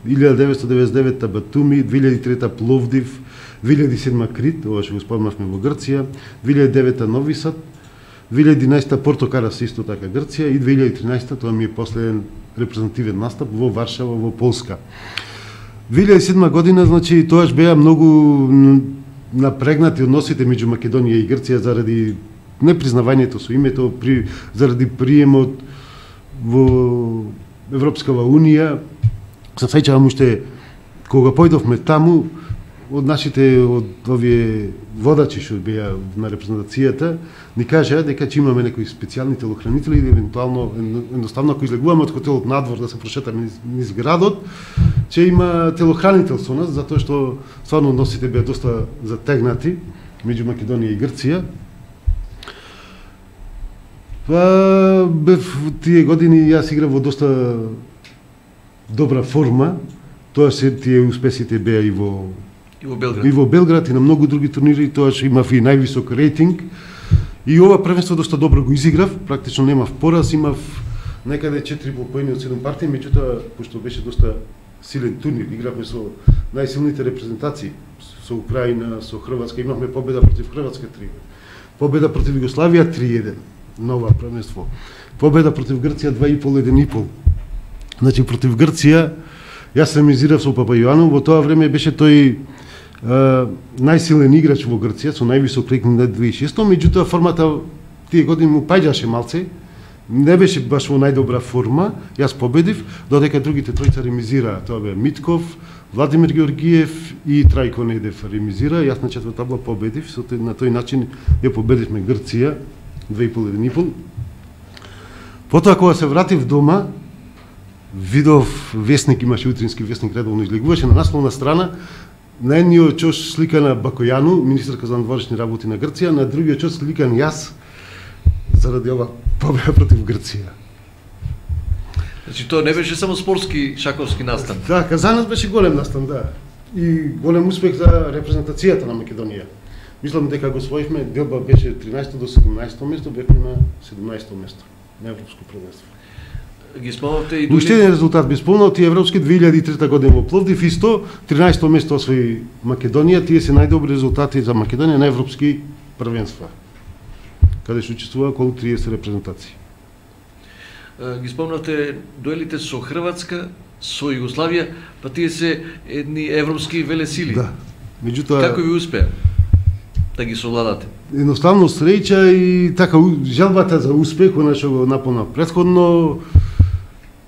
1999 Батуми, 2003 Пловдив, 2007 Крит, ова што го спомнавме во Грција, 2009 Нови Сад, 2011 Порто Карас исто така Грција и 2013 тоа ми е последен репрезентативен настап во Варшава во Полска. 2007 година, значи, тоаш беа многу напрегнати односите меѓу Македонија и Грција заради непризнавањето со името, заради приемот во Европскава Унија. Се сеќавам уште кога појдовме таму, од нашите, од овие водачи што беа на репрезентацијата, ни кажаа дека ќе имаме некои специјални телохранители или евентуално, едноставно ако излегуваме од хотелот надвор да се прошетаме низ градот, ќе има телохранител со нас, затоа што стварно односите беа доста затегнати меѓу Македонија и Грција. Па, тие години јас играв во доста добра форма, тоа се тие успесите беа и во Белград и на многу други турнири, тоаш имав и највисок рейтинг. И ова првенство доста добро го изиграв, практично немав пораз, имав некаде 4 поени од 7 партии, меѓутоа, пошто беше доста силен турнир, игравме со најсилните репрезентации, со Украина, со Хрватска, имавме победа против Хрватска 3-1, победа против Југославија 3-1 на ова првенство, победа против Грција 2,5-1,5. Значи, против Грција, јас ремизирав со Папајоану, во тоа време беше тој најсилен играч во Грција, со највисок рейтинг на 2600, меѓутоа формата тие години му паѓаше малце, не беше баш во најдобра форма, јас победив, додека другите тројца ремизираа, тоа бе Митков, Владимир Георгиев и Трајко Недев ремизира, јас на четврта табла победив, на тој начин ја победивме Грција 2,5-1,5. Потоа кога се вратив дома, видов весник, имаше утрински весник, редовно излегуваше на насловна страна, на едниот чош сликана Бакојану, министерка за надворешни работи на Грција, на другиот чош сликан јас заради ова победа против Грција. Значи тоа не беше само спортски шаковски настан. Така, за нас беше голем настан, да. И голем успех за репрезентацијата на Македонија. Мислам дека го освоивме, делба беше 13 до 17 место, бевме на 17 место на европско првенство. Ги спомнавте и уште еден резултат би спомнал, тие европски 2003 година во Пловдив исто 13 место освои Македонија, тие се најдобри резултати за Македонија на европски првенства, каде што учествува околу 30 репрезентации. Ги спомнавте дуелите со Хрватска, со Југославија, па тие се едни европски велесили. Да. Меѓутоа, како ви успеа да ги совладате? Едноставно среќа и така желбата за успех, она што го напомна претходно,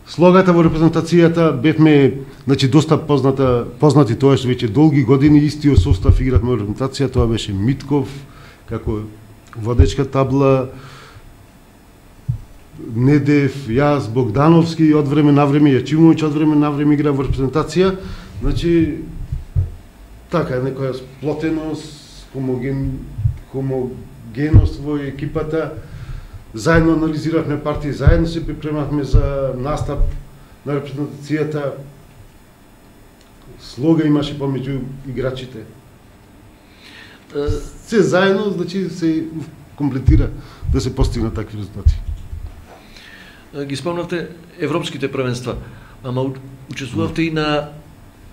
слогата во репрезентацијата, бевме, значи, доста познати тоа што веќе долги години истиот состав игравме во репрезентација, тоа беше Митков, како водечка табла, Недев, јас, Богдановски, од време на време, Јачимовиќ од време на време игра во репрезентација, значи, така, некоја сплотеност, хомогеност во екипата, заедно анализиравме партии, заедно се припремавме за настап на репрезентацијата, слога имаше помеѓу играчите. се заедно, значи се комплетира да се постигнат такви резултати. Ги спомнавте европските првенства, ама учествувавте и на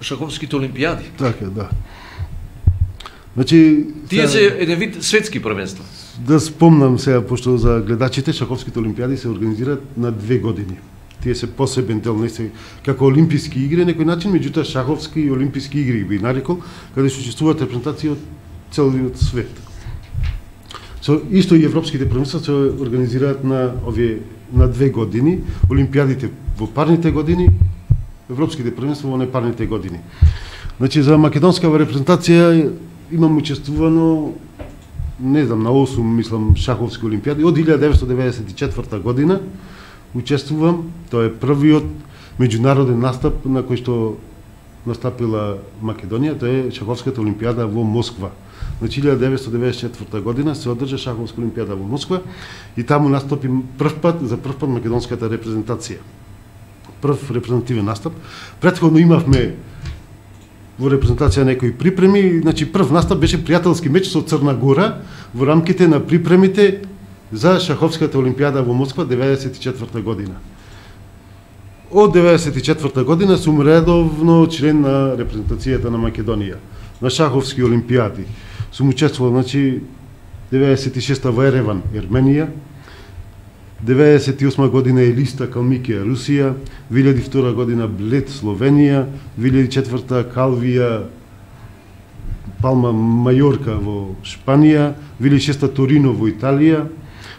шаховските олимпијади. Така, да. Значи, тие се еден вид светски првенства. Да спомнам сега, пошто за гледачите, шаховските олимпијади се организираат на 2 години. Тие се посебен дел, не се како олимписки игри на некој начин, меѓутоа шаховски и олимписки игри би нарекол, каде се учествуваат репрезентации од целиот свет. Исто и европските првенства се организираат на 2 години, олимпијадите во парните години, европските првенства во непарните години. Значи за македонскава репрезентација имам учествувано, не знам, на 8, мислам, шаховски олимпијади од 1994 година. Учествувам, тоа е првиот меѓународен настап на кој што настапила Македонија, тоа е шаховската олимпијада во Москва. Значи 1994 година се одржа шаховска олимпијада во Москва и таму настапи за прв пат македонската репрезентација. Прв репрезентативен настап. Претходно имавме во репрезентација некои припреми, значи прв настап беше пријателски меч со Црна Гора во рамките на припремите за шаховската олимпијада во Москва 1994 година. Од 1994 година сум редовно член на репрезентацијата на Македонија на шаховски олимпијади. Сум учествувал, значи 96-та во Ереван, Ерменија, 98 година Елиста, Калмикија, Русија, 2002 година Блед, Словенија, 2004 Калвија, Палма, Мајорка во Шпанија, 2006 Торино во Италија,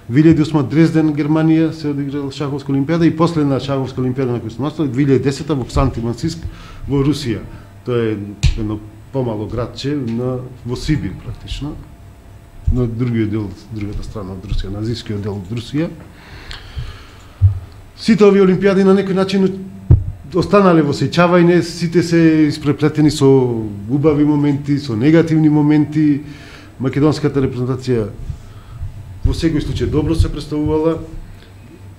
2008 Дрезден, Германија се одиграла шаховска олимпијада и последна шаховска олимпијада на која се настапи 2010 во Ксанти-Мансийск во Русија. Тоа е едно помало градче во Сибир практично, на другиот дел, другата страна од Русија, на азискиот дел од Русија. Сите овие олимпијади на некој начин останале во сеќавање, сите се испреплетени со убави моменти, со негативни моменти. Македонската репрезентација во секој случај добро се представувала.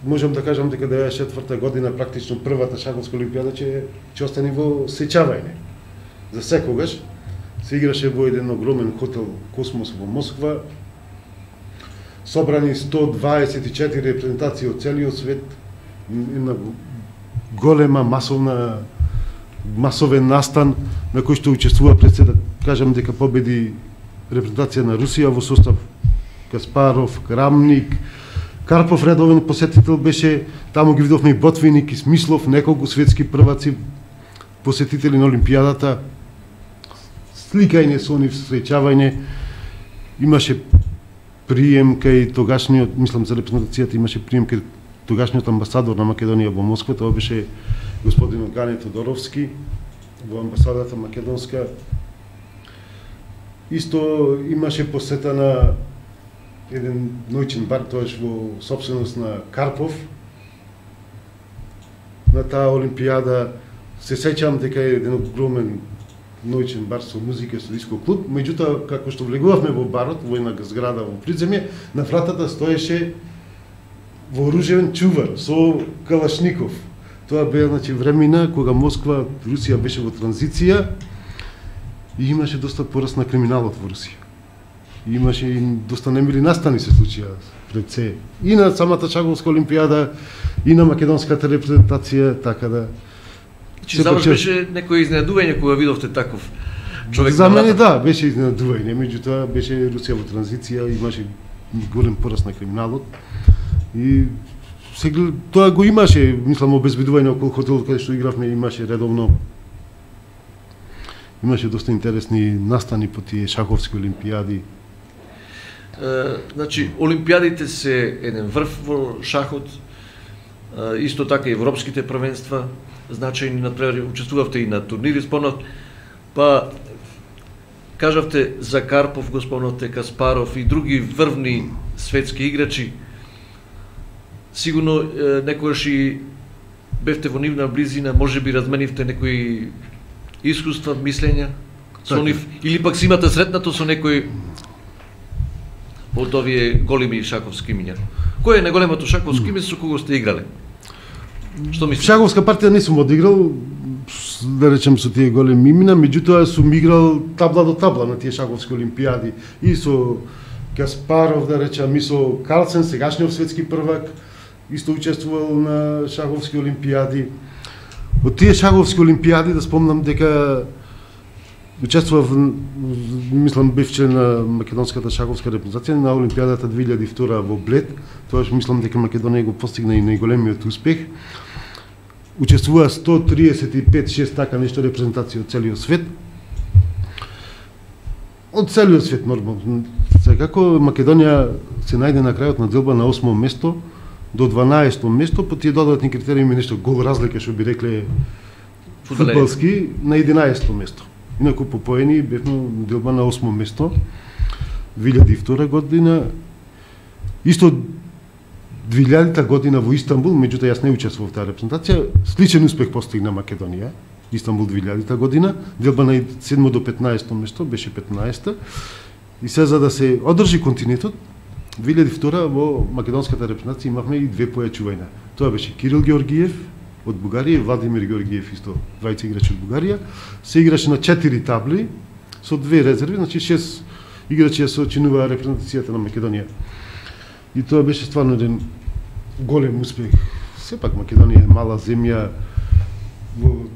Можам да кажам дека 1994 година практично првата шаховска олимпијада ќе остане во сеќавање. За секогаш се играше во еден огромен хотел Космос во Москва. Собрани 124 репрезентации од целиот свет, една голема масовен настан на кој што учествува пред се, да кажам дека победи репрезентација на Русија во состав Каспаров, Крамник, Карпов редовен посетител беше, таму ги видовме и Ботвиник и Смислов, неколку светски прваци посетители на олимпијадата. Сликање со нив, среќавање, имаше прием кај тогашниот, мислам за репрезентацијата, имаше прием кај тогашниот амбасадор на Македонија во Москва, тоа беше господин Гане Тодоровски во амбасадата македонска. Исто имаше посета на еден ноќен бар, тоаш во собственост на Карпов. На таа олимпијада се сеќавам дека е еден огромен ноќен бар со музика, со диско клуб, меѓутоа како што влегувавме во барот, во една зграда во придземје, на вратата стоеше вооружен чувар со калашников. Тоа беа, значи, времена кога Москва, Русија беше во транзиција и имаше доста пораст на криминалот во Русија. И имаше и доста немили настани се случија пред се. И на самата шаховска олимпијада, и на македонската репрезентација, така да... Чи за вас беше некој изненадување кога видовте таков човек? За мене да, беше изненадување, меѓутоа беше Русија во транзиција, имаше голем пораст на криминалот. И тоа го имаше, мислам, обезбедување околу хотелот каде што игравме, имаше редовно. Имаше доста интересни настани по тие шаховски олимпијади. Значи, олимпијадите се еден врв во шахот, исто така и европските првенства, значајни, например, учествувавте и на турнири, спомнав, па кажавте за Карпов, го спомнавте Каспаров и други врвни светски играчи. Сигурно некојаш и бевте во нивна близина, може би разменивте некои искуства, мислења со нив, или пак си имате сретнато со некој од овие големи шаковски имиња. Кој е најголемото шаковско име со кого сте играле? Што мислите? Шаковска партија не сум одиграл, да речем со тие големи имена, меѓутоа сум играл табла до табла на тие шаховски олимпијади и со Каспаров, да речем, и со Карлсен, сегашниот светски првак, исто учествувал на шаховски олимпијади. Од тие шаховски олимпијади да спомнам дека учествував, мислам, бев член на македонската шаховска репрезентација на олимпијадата 2002 во Блед. Тоа мислам дека Македонија го постигна и најголемиот успех. Учествува 135-6 така нешто репрезентации од целиот свет. Од целиот свет нормално. Секако Македонија се најде на крајот на делба на 8-о место до 12-о место, по тие додатни критериуми нешто гол разлика што би рекле фудбалски на 11-о место. Инаку по поени бевме делба на 8-о место 2002 година. Исто 2000-та година во Истанбул, меѓутоа јас не учествував во таа репрезентација, сличен успех постигна Македонија. Истанбул 2000-та година, делба на 7 до 15 место, беше 15-та. И се за да се одржи континуитет, 2002 во македонската репрезентација имавме и две појачувања. Тоа беше Кирил Георгиев од Бугарија и Владимир Георгиев, исто двајца играчи од Бугарија. Се играше на 4 табли со две резерви, значи 6 играчи ја се очинува репрезентацијата на Македонија. И тоа беше стварно еден голем успех. Сепак Македонија е мала земја во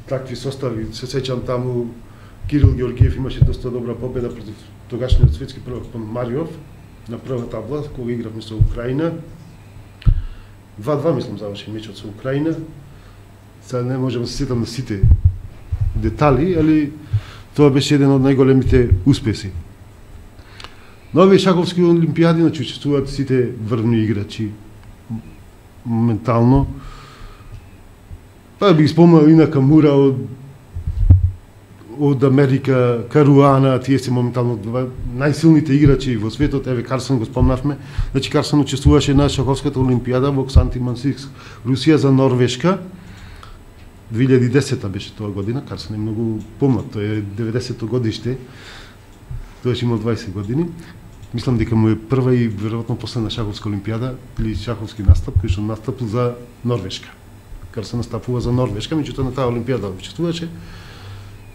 такви состави. Се сеќам таму Кирил Георгиев имаше доста добра победа против тогашниот светски првак Мариов на прва табла кога игравме со Украина. 2-2 мислам заврши мечот со Украина. Сега не можам да се сетам на сите детали, али тоа беше еден од најголемите успеси. На овие шаховски олимпијади учествуваат сите врвни играчи моментално. Па би спомнал и на Камура од Америка, Каруана, тие се моментално најсилните играчи во светот. Еве Карсен го спомнавме. Значи Карсен учествуваше на шаховската олимпијада во Ксанти-Мансийск, Русија за Норвешка. 2010 беше тоа година, Карсен е многу помлад, тој е 90-то годиште. Тој имал 20 години. Мислам дека му е прва и веројатно последна шаховска олимпијада или шаховски настап кој што настапил за Норвешка. Карсен настапува за Норвешка, меѓутоа на таа олимпијада учествуваше.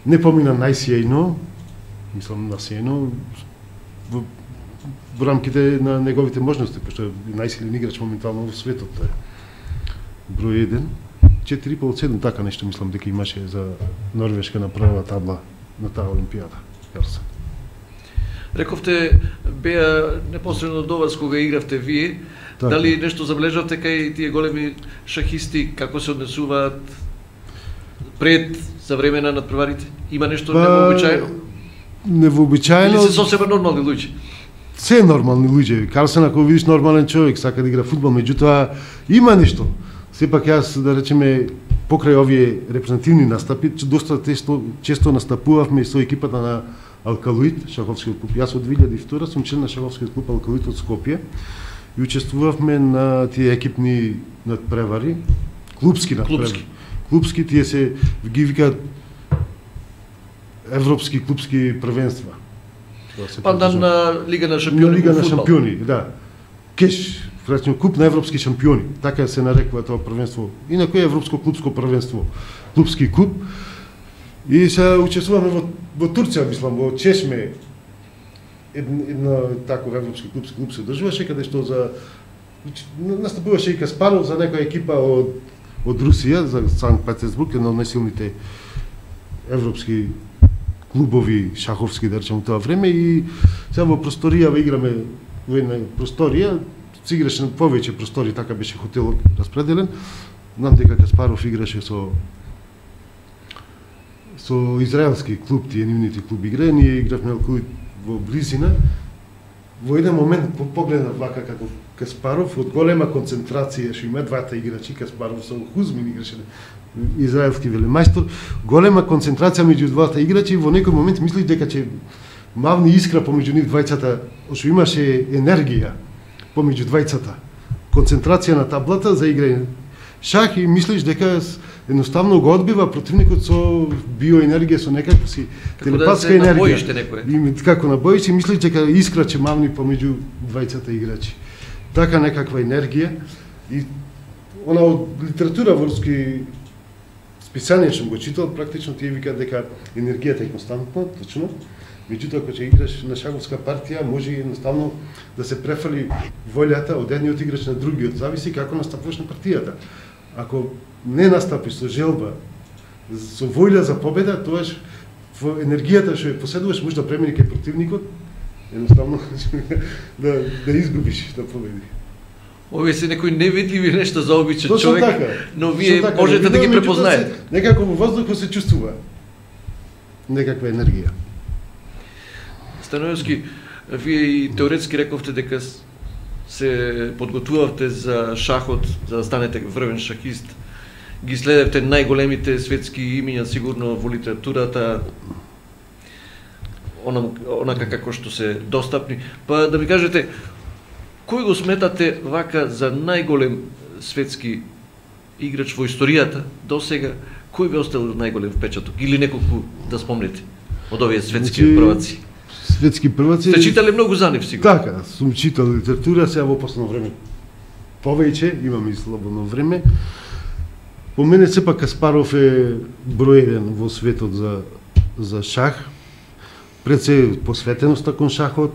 Не помина најсјајно, мислам најсјајно во рамките на неговите можности, пошто е најсилен играч моментално во светот. Број 1, 4,5 од 7, така нешто мислам дека имаше за Норвешка на прва табла на таа олимпијада. Карсен. Рековте, беа непосредно до вас кога игравте вие, так. Дали нешто забележавте кај тие големи шахисти, како се однесуваат пред, за време на надпреварите? Има нешто невообичаено? Невообичаено? Или се сосема нормални луѓе? Се нормални луѓе. Карсен, ако видиш нормален човек, сака да игра фудбал, меѓутоа има нешто. Сепак јас, да речеме, покрај овие репрезентативни настапи, доста често настапувавме со екипата на Алкалоид, шаховскиот клуб. Јас од 2002 сум член на шаховскиот клуб Алкалоид од Скопје и учествувавме на тие екипни надпревари, клубски надпревари. Клубски тие се ги викаат европски клубски првенства. Пандан на Лига на шампиони. На Лига на шампиони, да. Кеш, врачно куп на европски шампиони. Така се нарекува тоа првенство. Инаку е европско клубско првенство, клубски клуб. И се учествуваме во Турција, мислам, во Чешме. Една таков европски клуб се држуваше, каде што за настапуваше и Каспаров за некоја екипа од Русија, за Санкт Петербург, една од најсилните европски клубови шаховски, да речем, тоа време. И сега во просторија играме во една просторија, се играше на повеќе простори, така беше хотелот распределен. Знам дека Каспаров играше со израелски клуб, тие нивните клуби играе, ние игравме во близина. Во еден момент погледнав вака како Каспаров од голема концентрација, што има двата играчи, Каспаров со Хузмин играше израелски велемајстор, голема концентрација меѓу двата играчи, во некој момент мислиш дека ќе мавни искра помеѓу нив двајцата, што имаше енергија помеѓу двајцата. Концентрација на таблата за играње шах и мислиш дека едноставно го одбива противникот со биоенергија, со некаква си телепатска енергија. И како на боиш и мислиш дека искра ќе мавни помеѓу двајцата играчи. Така некаква енергија и она од литература во руски списание што го читал, практично тие викаат дека енергијата е константна, точно. Меѓутоа, кога ќе играш на шаховска партија, може едноставно да се префали волјата од едниот играч на другиот, зависи како настапуваш на партијата. Ако не настапиш со желба, со волја за победа, тоаш во енергијата што ја поседуваш може да премини кај противникот, едноставно да изгубиш, да победиш. Овие се некои невидливи нешта за обичен Точно човек, така, но вие така, можете да ги препознаете. Некако во воздухот се чувствува некаква енергија. Станојовски, вие и теоретски рековте дека се подготвувавте за шахот, за да станете врвен шахист. Ги следевте најголемите светски имиња сигурно во литературата, онака како што се достапни. Па да ми кажете, кој го сметате вака за најголем светски играч во историјата до сега? Кој ви оставил најголем впечаток или неколку да спомнете од овие светски прваци? Светски прваци. Сте читале многу за нив сигурно. Така, сум читал литература, сега во последно време повеќе, имам и слободно време. По мене сепак Каспаров е број 1 во светот за шах. Пред се посветеноста кон шахот,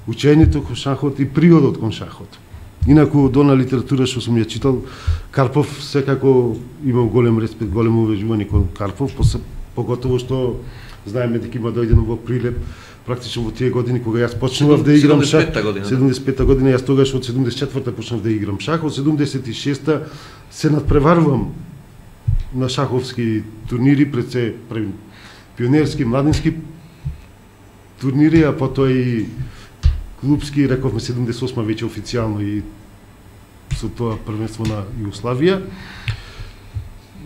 учењето кон шахот и природот кон шахот. Инаку од она литература што сум ја читал, Карпов секако имам голем респект, големо уважување кон Карпов, поготово што знаеме дека има дојдено во Прилеп, практично во тие години кога јас почнував да играм шах. 75-та година, јас тогаш од 74-та почнав да играм шах, од 76-та се надпреварувам на шаховски турнири, пред се пионерски, младински турнири, а потоа и клубски, рековме 78-ма веќе официјално и со тоа првенство на Југославија.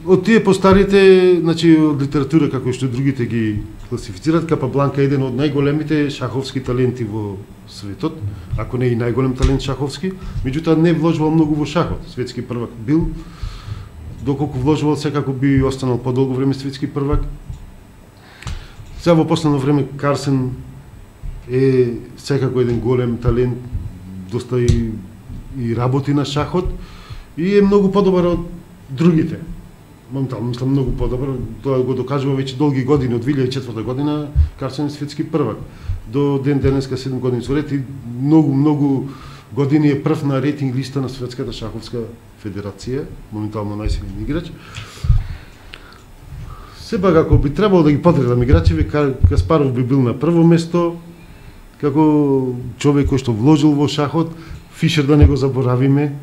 Од тие постарите, значи од литература како што другите ги класифицираат, Капабланка е еден од најголемите шаховски таленти во светот, ако не и најголем талент шаховски, меѓутоа не вложувал многу во шахот. Светски првак бил, доколку вложувал секако би останал подолго време светски првак. Сега во последно време Карсен е секако еден голем талент, доста и работи на шахот и е многу подобар од другите. Моментално мислам многу подобар, тоа го докажува веќе долги години, од 2004 година Карсен е светски првак. До ден денеска 7 години со ред и многу години е прв на рейтинг листа на Светската шаховска федерација, моментално најсилен играч. Сепак ако би требало да ги подредам играчи, Каспаров би бил на прво место, како човек кој што вложил во шахот. Фишер да не го заборавиме.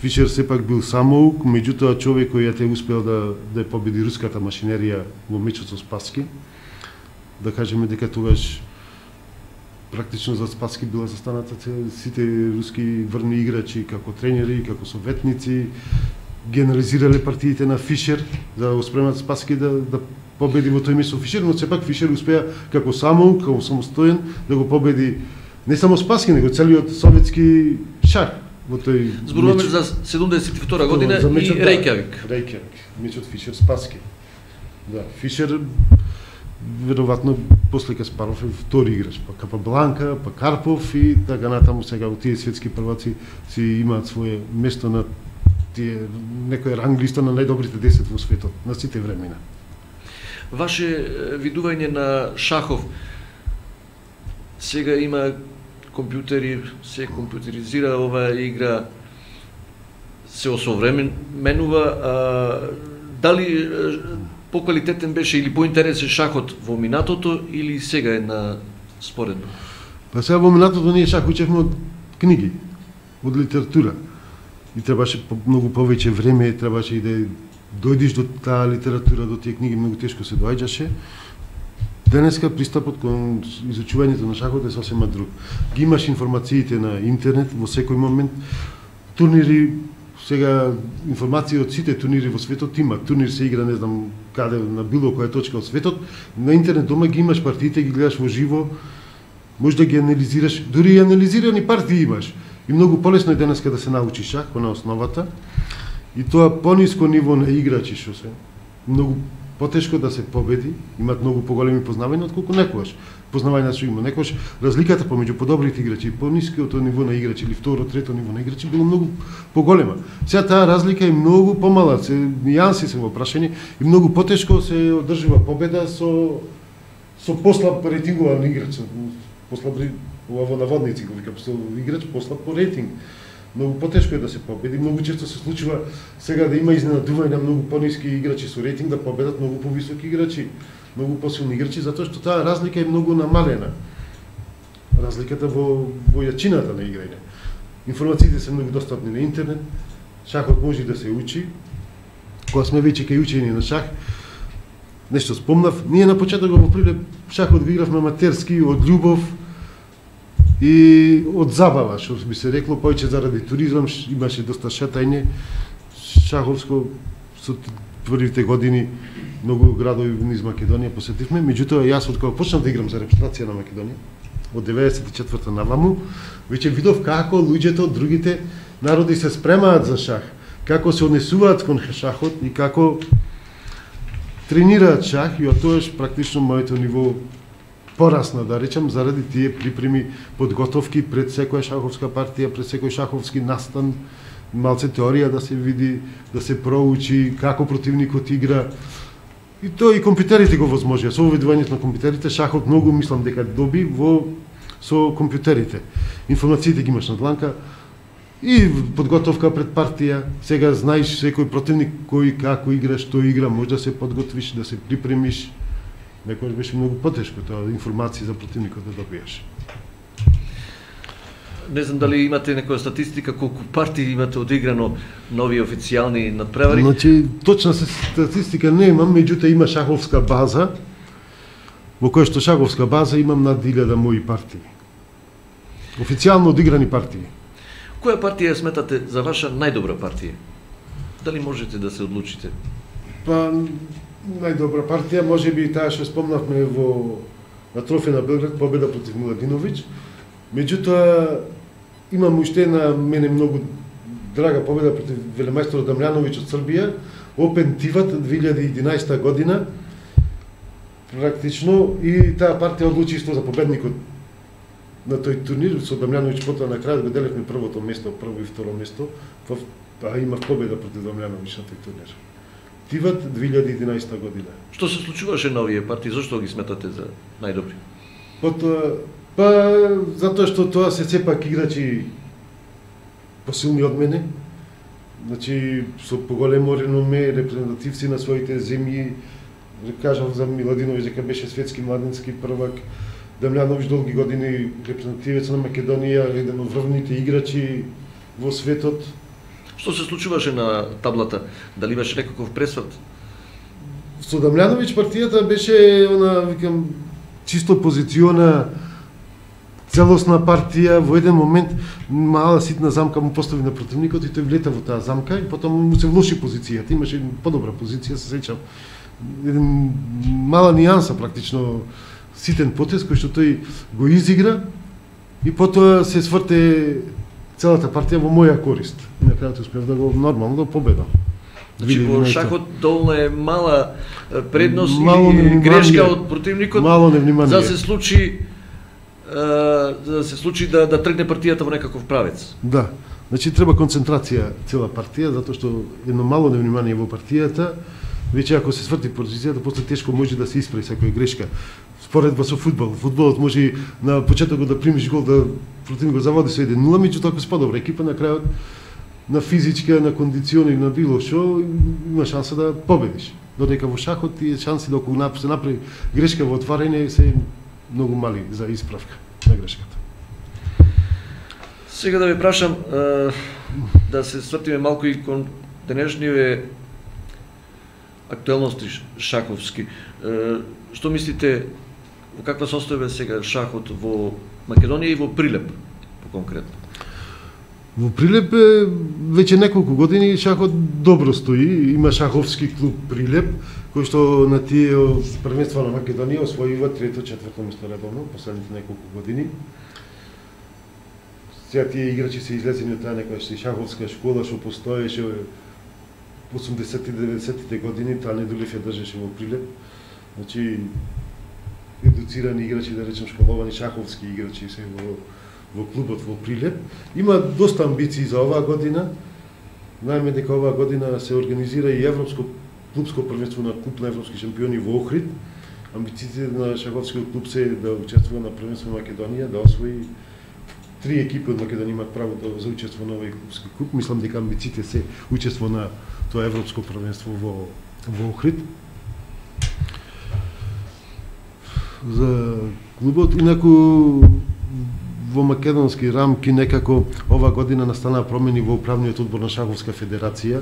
Фишер сепак бил самоук, меѓутоа човек кој ја те успел да победи руската машинерија во мечот со Спаски. Да кажеме дека тогаш практично за Спаски била застаната сите руски врни играчи како тренери, како советници, генерализирале партиите на Фишер за да го спремат Спаски да победи во тој место со Фишер, но сепак Фишер успеа како самоук, како самостоен да го победи не само Спаски, него целиот советски шах во тој. Зборуваме за 72 година и Рејкјавик. Рејкјавик, мечот Фишер Спаски. Да, Фишер веројатно после Каспаров е втори играч, па Капабланка, па Карпов и така натаму. Сега тие светски прваци си имаат свое место на тие некој ранг листа на најдобрите 10 во светот на сите времена. Ваше видување на шахов, сега има компјутери, се компјутеризира оваа игра, се осовременува, дали поквалитетен беше или поинтересен шахот во минатото или сега е на споредно? Па сега во минатото ние шах учевме од книги, од литература. И требаше многу повеќе време, требаше и да дојдеш до таа литература, до тие книги, многу тешко се доаѓаше. Денеска пристапот кон изучувањето на шахот е сосема друг. Ги имаш информациите на интернет во секој момент. Турнири, сега информации од сите турнири во светот има. Турнир се игра не знам каде, на било која точка од светот. На интернет дома ги имаш партиите, ги гледаш во живо, можеш да ги анализираш, дури и анализирани партии имаш. И многу полесно е денеска да се научи шах на основата. И тоа пониско ниво на играчи што се. Многу потешко да се победи, имаат многу поголеми познавања отколку некогаш. Познавања што има некогаш, разликата помеѓу подобрите играчи и пониското ниво на играчи или второ, трето ниво на играчи било многу поголема. Сега таа разлика е многу помала, нијанси се во прашање и многу потешко се одржува победа со послаб рейтингуван играч, послаб во наводници го викам, со играч послаб по рейтинг. Многу потешко е да се победи, многу често се случува сега да има изненадување на многу пониски играчи со рейтинг да победат многу повисоки играчи, многу посилни играчи, затоа што таа разлика е многу намалена. Разликата во јачината на играње. Информациите се многу достапни на интернет, шахот може да се учи. Кога сме веќе кај учење на шах, нешто спомнав, ние на почеток во Прилеп шахот го игравме аматерски од љубов и од забава, што би се рекло, повеќе заради туризам, имаше доста шетање, шаховско со првите години многу градови низ Македонија посетивме, меѓутоа јас од кога почнав да играм за репрезентација на Македонија, од 94-та наваму, веќе видов како луѓето од другите народи се спремаат за шах, како се однесуваат кон шахот и како тренираат шах, и од тоаш практично моето ниво порасна, да речам, заради тие припреми подготовки пред секоја шаховска партија, пред секој шаховски настан, малце теорија да се види, да се проучи како противникот игра. И тоа и компјутерите го возможија. Со овидувањето на компјутерите шахот многу мислам дека доби со компјутерите. Информациите ги имаш на дланка и подготовка пред партија. Сега знаеш секој противник кој како игра, што игра, може да се подготвиш, да се припремиш. Некојаш беше многу потешко тоа информации за противникот да добиеш. Не знам дали имате некоја статистика колку партии имате одиграно нови официјални надпревари? Значи, точна статистика не имам, меѓутоа има шаховска база, во која што шаховска база имам над 1000 мои партии. Официјално одиграни партии. Која партија сметате за ваша најдобра партија? Дали можете да се одлучите? Па, најдобра партија, може би таа што спомнавме на Трофеј на Белград, победа против Миладиновиќ. Меѓутоа, имам уште една мене многу драга победа против велемајсторот Дамјановиќ од Србија, Опен Тиват 2011 година, практично, и таа партија одлучи исто за победникот на тој турнир, со Дамјановиќ потоа на крајот го деливме првото место, прво и второ место, а имав победа против Дамјановиќ на тој турнир. Тиват 2011 година. Што се случуваше на овие партии? Зошто ги сметате за најдобри? Затоа што тоа се сепак играчи посилни од мене, значи со поголемо реноме, репрезентативци на своите земји. Кажав за Миладиновиќ дека беше светски младенски првак, Дамјановиќ долги години репрезентативец на Македонија, еден од врвните играчи во светот. Што се случуваше на таблата? Дали имаше некаков пресврт? Со Дамјановиќ партијата беше викам, чисто позициона, целосна партија. Во еден момент мала ситна замка му постави на противникот и тој влета во таа замка и потом му се влоши позицијата. Имаше подобра позиција, се сеќам. Еден мала нијанса практично, ситен потез кој што тој го изигра и потоа се сврте целата партија во моја корист. И на крајот успев да го нормално да победам. Значи во шахот доволно е мала предност или грешка од противникот за да се случи да тргне партијата во некаков правец. Да. Значи треба концентрација цела партија, затоа што едно мало невнимание во партијата, веќе ако се сврти позицијата, после тешко може да се исправи секоја грешка. Споредба со фудбал. Фудбалот може на почетокот да примиш гол, да противникот заводи со 1-0, меѓутоа ако се подобра екипа на крајот на физичка, на кондициони, на било што, има шанса да победиш. Додека во шахот тие шанси да се направи грешка во отварање се многу мали за исправка на грешката. Сега да ви прашам да се свртиме малку и кон денешниве актуелности шаховски. Што мислите, во каква состојба сега шахот во Македонија и во Прилеп, по-конкретно? Во Прилеп веќе неколку години шахот добро стои. Има шаховски клуб Прилеп, кој што на тие првенства на Македонија освојува 3-4 место редовно последните неколку години. Сега тие играчи се излезени од таа некоја шаховска школа што постоеше 80-90-тите години, таа Недулев ја држеше во Прилеп. Значи, едуцирани играчи, да речем школовани шаховски играчи се во клубот во Прилеп. Има доста амбиции за оваа година. Знаеме дека оваа година се организира и европско клубско првенство на клуб на европски шампиони во Охрид. Амбициите на шаховскиот клуб се да учествува на првенство во Македонија, да освои 3 екипи од Македонија имаат право за учество на овој клубски клуб. Мислам дека амбициите се учество на тоа европско првенство во Охрид. За клубот, инаку во македонски рамки некако ова година настанаа промени во управниот одбор на Шаховска федерација.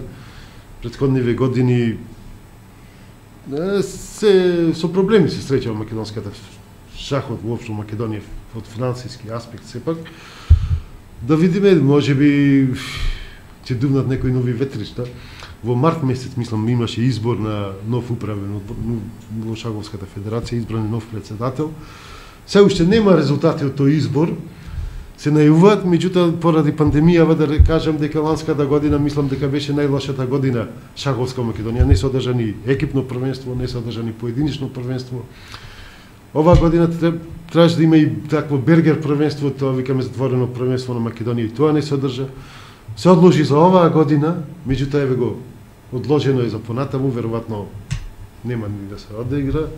Претходниве години се со проблеми се среќа во македонската шахот воопшто во Македонија од финансиски аспект сепак. Да видиме, можеби ќе дувнат некои нови ветришта. Во март месец, мислам, имаше избор на нов управен одбор во Шаховската федерација, избран нов председател. Се уште нема резултати од тој избор. Се најавуваат, меѓутоа поради пандемијава да кажам дека ланската година мислам дека беше најлошата година шаховска во Македонија. Не се одржани екипно првенство, не се одржани поединично првенство. Оваа година требаше да има и такво бергер првенство, тоа викаме затворено првенство на Македонија, и тоа не се одржа. Се одложи за оваа година, меѓутоа еве го одложено е за понатаму, веројатно нема ни да се одигра.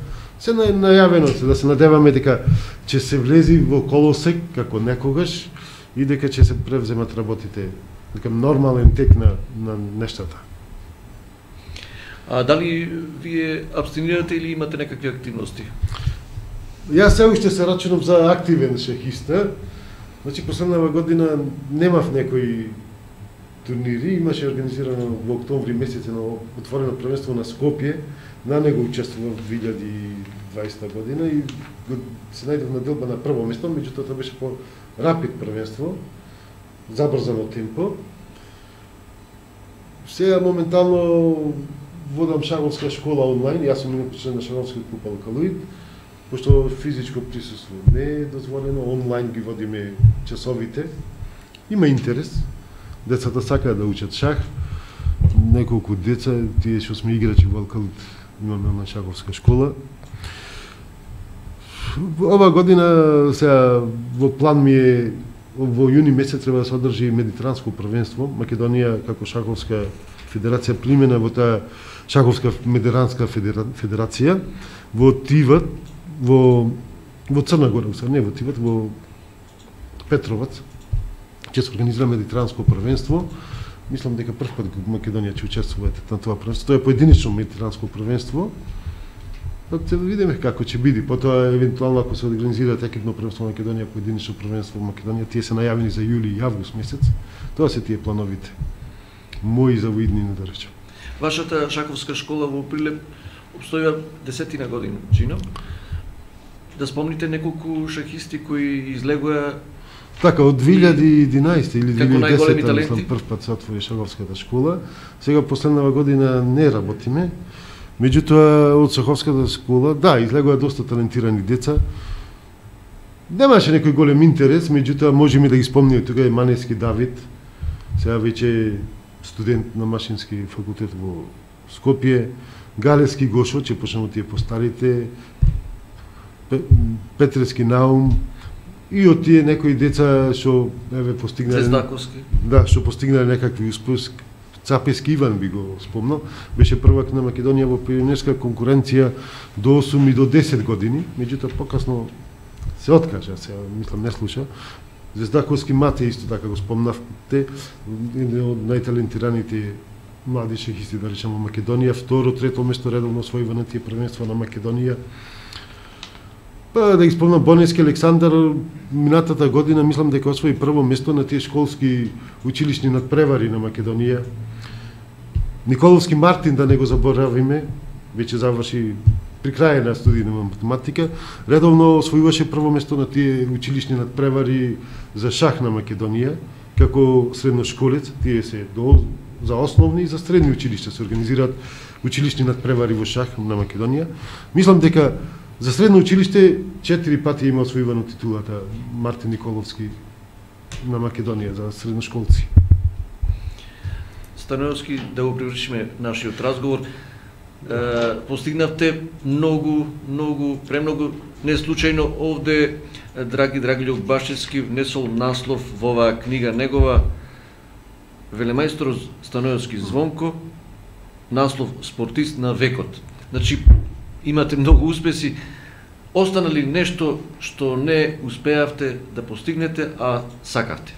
Се најавено се, да се надеваме дека ќе се влези во колосек како некогаш и дека ќе се превземат работите, дека нормален тек на нештата. А дали вие абстинирате или имате некакви активности? Јас се уште се рачунам за активен шахиста. Значи, последнава година немав некои турнири, имаше организирано во октомври месец на отворено првенство на Скопје. На него учествував 2020 година и се најдов на делба на прво место, меѓутоа тоа беше по рапид првенство, забрзано темпо. Сега моментално водам шаховска школа онлайн, јас сум член на шаховскиот клуб Алкалоид, пошто физичко присуство не е дозволено, онлайн ги водиме часовите. Има интерес, децата сакаат да учат шах, неколку деца, тие што сме играчи во Алкалоид, имаме на шаховска школа. Ова година сега во план ми е во јуни месец треба да се одржи медитеранско првенство. Македонија како шаховска федерација примена во таа шаховска медитеранска федерација во Тиват, во Црна Гора, не во Тиват, во Петровац. Ќе се организира медитеранско првенство. Мислам дека прв пат Македонија ќе учествува на тоа првенство. Тоа е поединично медитеранско првенство. Па ќе видиме како ќе биде. Потоа евентуално ако се организира екипно првенство во Македонија, поединично првенство во Македонија, тие се најавени за јули и август месец. Тоа се тие плановите. Мои за воиднина, да речем. Вашата шаховска школа во Прилеп обстојува 10 години, чинам. Да спомните неколку шахисти кои излегоа така од 2011 или 2010 мислам прв пат се отвори шаховската школа. Сега последнава година не работиме. Меѓутоа од шаховската школа, да, излегоа доста талентирани деца. Немаше некој голем интерес, меѓутоа можеме да ги спомниме, тука е Манески Давид, сега веќе студент на машински факултет во Скопје, Галевски Гошо, че почнемо тие постарите, Петрески Наум, и од тие некои деца што еве постигнале Цездаковски. Да, што постигнале некакви успеси. Цапески Иван би го спомнал, беше првак на Македонија во пионерска конкуренција до 8 и до 10 години, меѓутоа покасно се откажа, се мислам не слуша. Звездаковски Мате исто така го спомнавте, еден од најталентираните млади шахисти, да речем, во Македонија, второ, трето место редовно освојува на тие првенства на Македонија. Па да ги спомнам Бонески Александар, минатата година мислам дека освои прво место на тие школски училишни надпревари на Македонија. Николовски Мартин, да не го заборавиме, веќе заврши при крај на студии на математика, редовно освојуваше прво место на тие училишни надпревари за шах на Македонија, како средношколец, тие се за основни и за средни училишта се организираат училишни надпревари во шах на Македонија. Мислам дека за средно училиште 4 пати има освојувано титулата Мартин Николовски на Македонија за средношколци. Станоевски, да го привршиме нашиот разговор. Постигнавте премногу, не случајно овде драги Драгилјов Башевски внесол наслов во оваа книга негова, Велемајстор Станоевски Звонко, наслов Спортист на векот. Значи, имате многу успеси. Остана ли нешто што не успеавте да постигнете, а сакавте?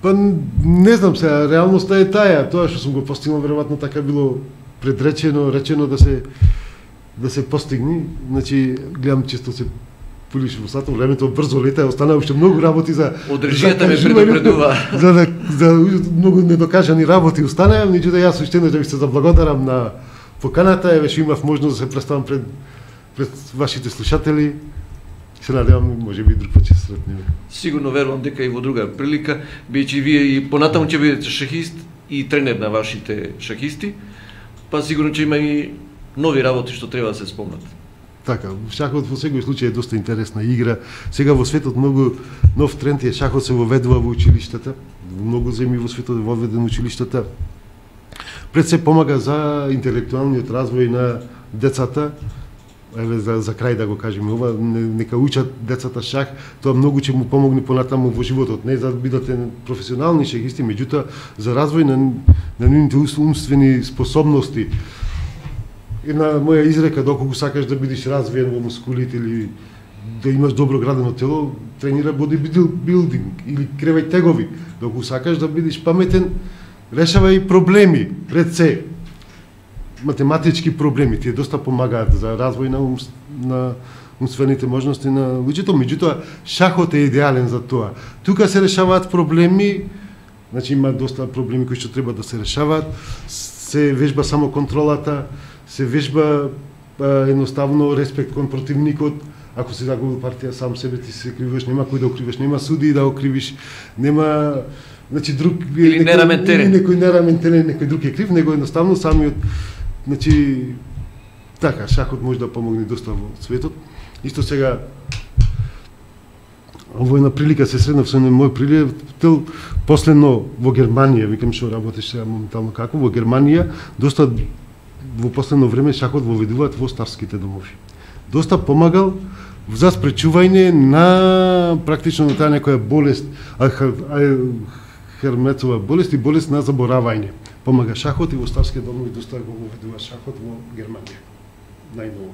Па не знам сега, реалноста е таа, тоа што сум го постигнал веројатно така било речено да се постигне. Значи гледам често се пулиш во сатот, времето брзо лета, останаа уште многу работи за одржијата ме предупредува. За многу недокажани работи останаа, меѓутоа јас уште еднаш да ви се заблагодарам на поканата, еве што имав можност да се представам пред вашите слушатели. Се надевам, може би друг пат ќе се сретнеме. Сигурно верувам дека и во друга прилика, бидејќи вие и понатаму ќе бидете шахист и тренер на вашите шахисти, па сигурно ќе има и нови работи што треба да се спомнат. Така, шахот во секој случај е доста интересна игра. Сега во светот многу нов тренд е шахот се воведува во училиштата. Во многу земји во светот е воведен училиштата. Пред се помага за интелектуалниот развој на децата. Еве за крај да го кажеме ова, нека учат децата шах, тоа многу ќе му помогне понатаму во животот, не за да бидете професионални шахисти, меѓутоа за развој на нивните умствени способности. Една моја изрека, доколку сакаш да бидеш развиен во мускулите или да имаш добро градено тело, тренира бодибилдинг или кревај тегови. Доколку сакаш да бидеш паметен, решавај проблеми пред се. Математички проблеми тие доста помагаат за развој на умствените можности на луѓето, меѓутоа шахот е идеален за тоа. Тука се решаваат проблеми, значи има доста проблеми кои што треба да се решаваат, се вежба само контролата, се вежба едноставно респект кон противникот. Ако си загубил партија, сам себе ти се кривиш, нема кој да окривиш, нема суди да окривиш, нема значи друг или некој нераментерен, некој друг е крив, него едноставно самиот. Значи, така, шахот може да помогне доста во светот. Исто сега, во една прилика се среднав со мој пријател, последно во Германија, викам што работиш сега моментално како, во Германија, доста во последно време шахот воведуваат во старските домови. Доста помагал за спречување на практично на таа некоја болест, Херметова болест и болест на заборавање. Помага шахот и во старски домови доста го воведува шахот во Германија. Најново.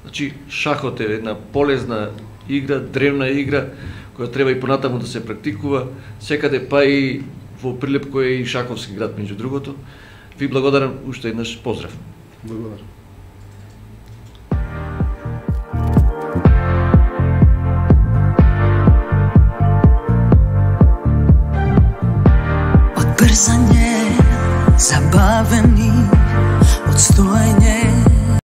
Значи, шахот е една полезна игра, древна игра, која треба и понатаму да се практикува, секаде па и во Прилеп кој е и шаховски град меѓу другото. Ви благодарам уште еднаш, поздрав. Благодарам. Брзање, забавени, одстоење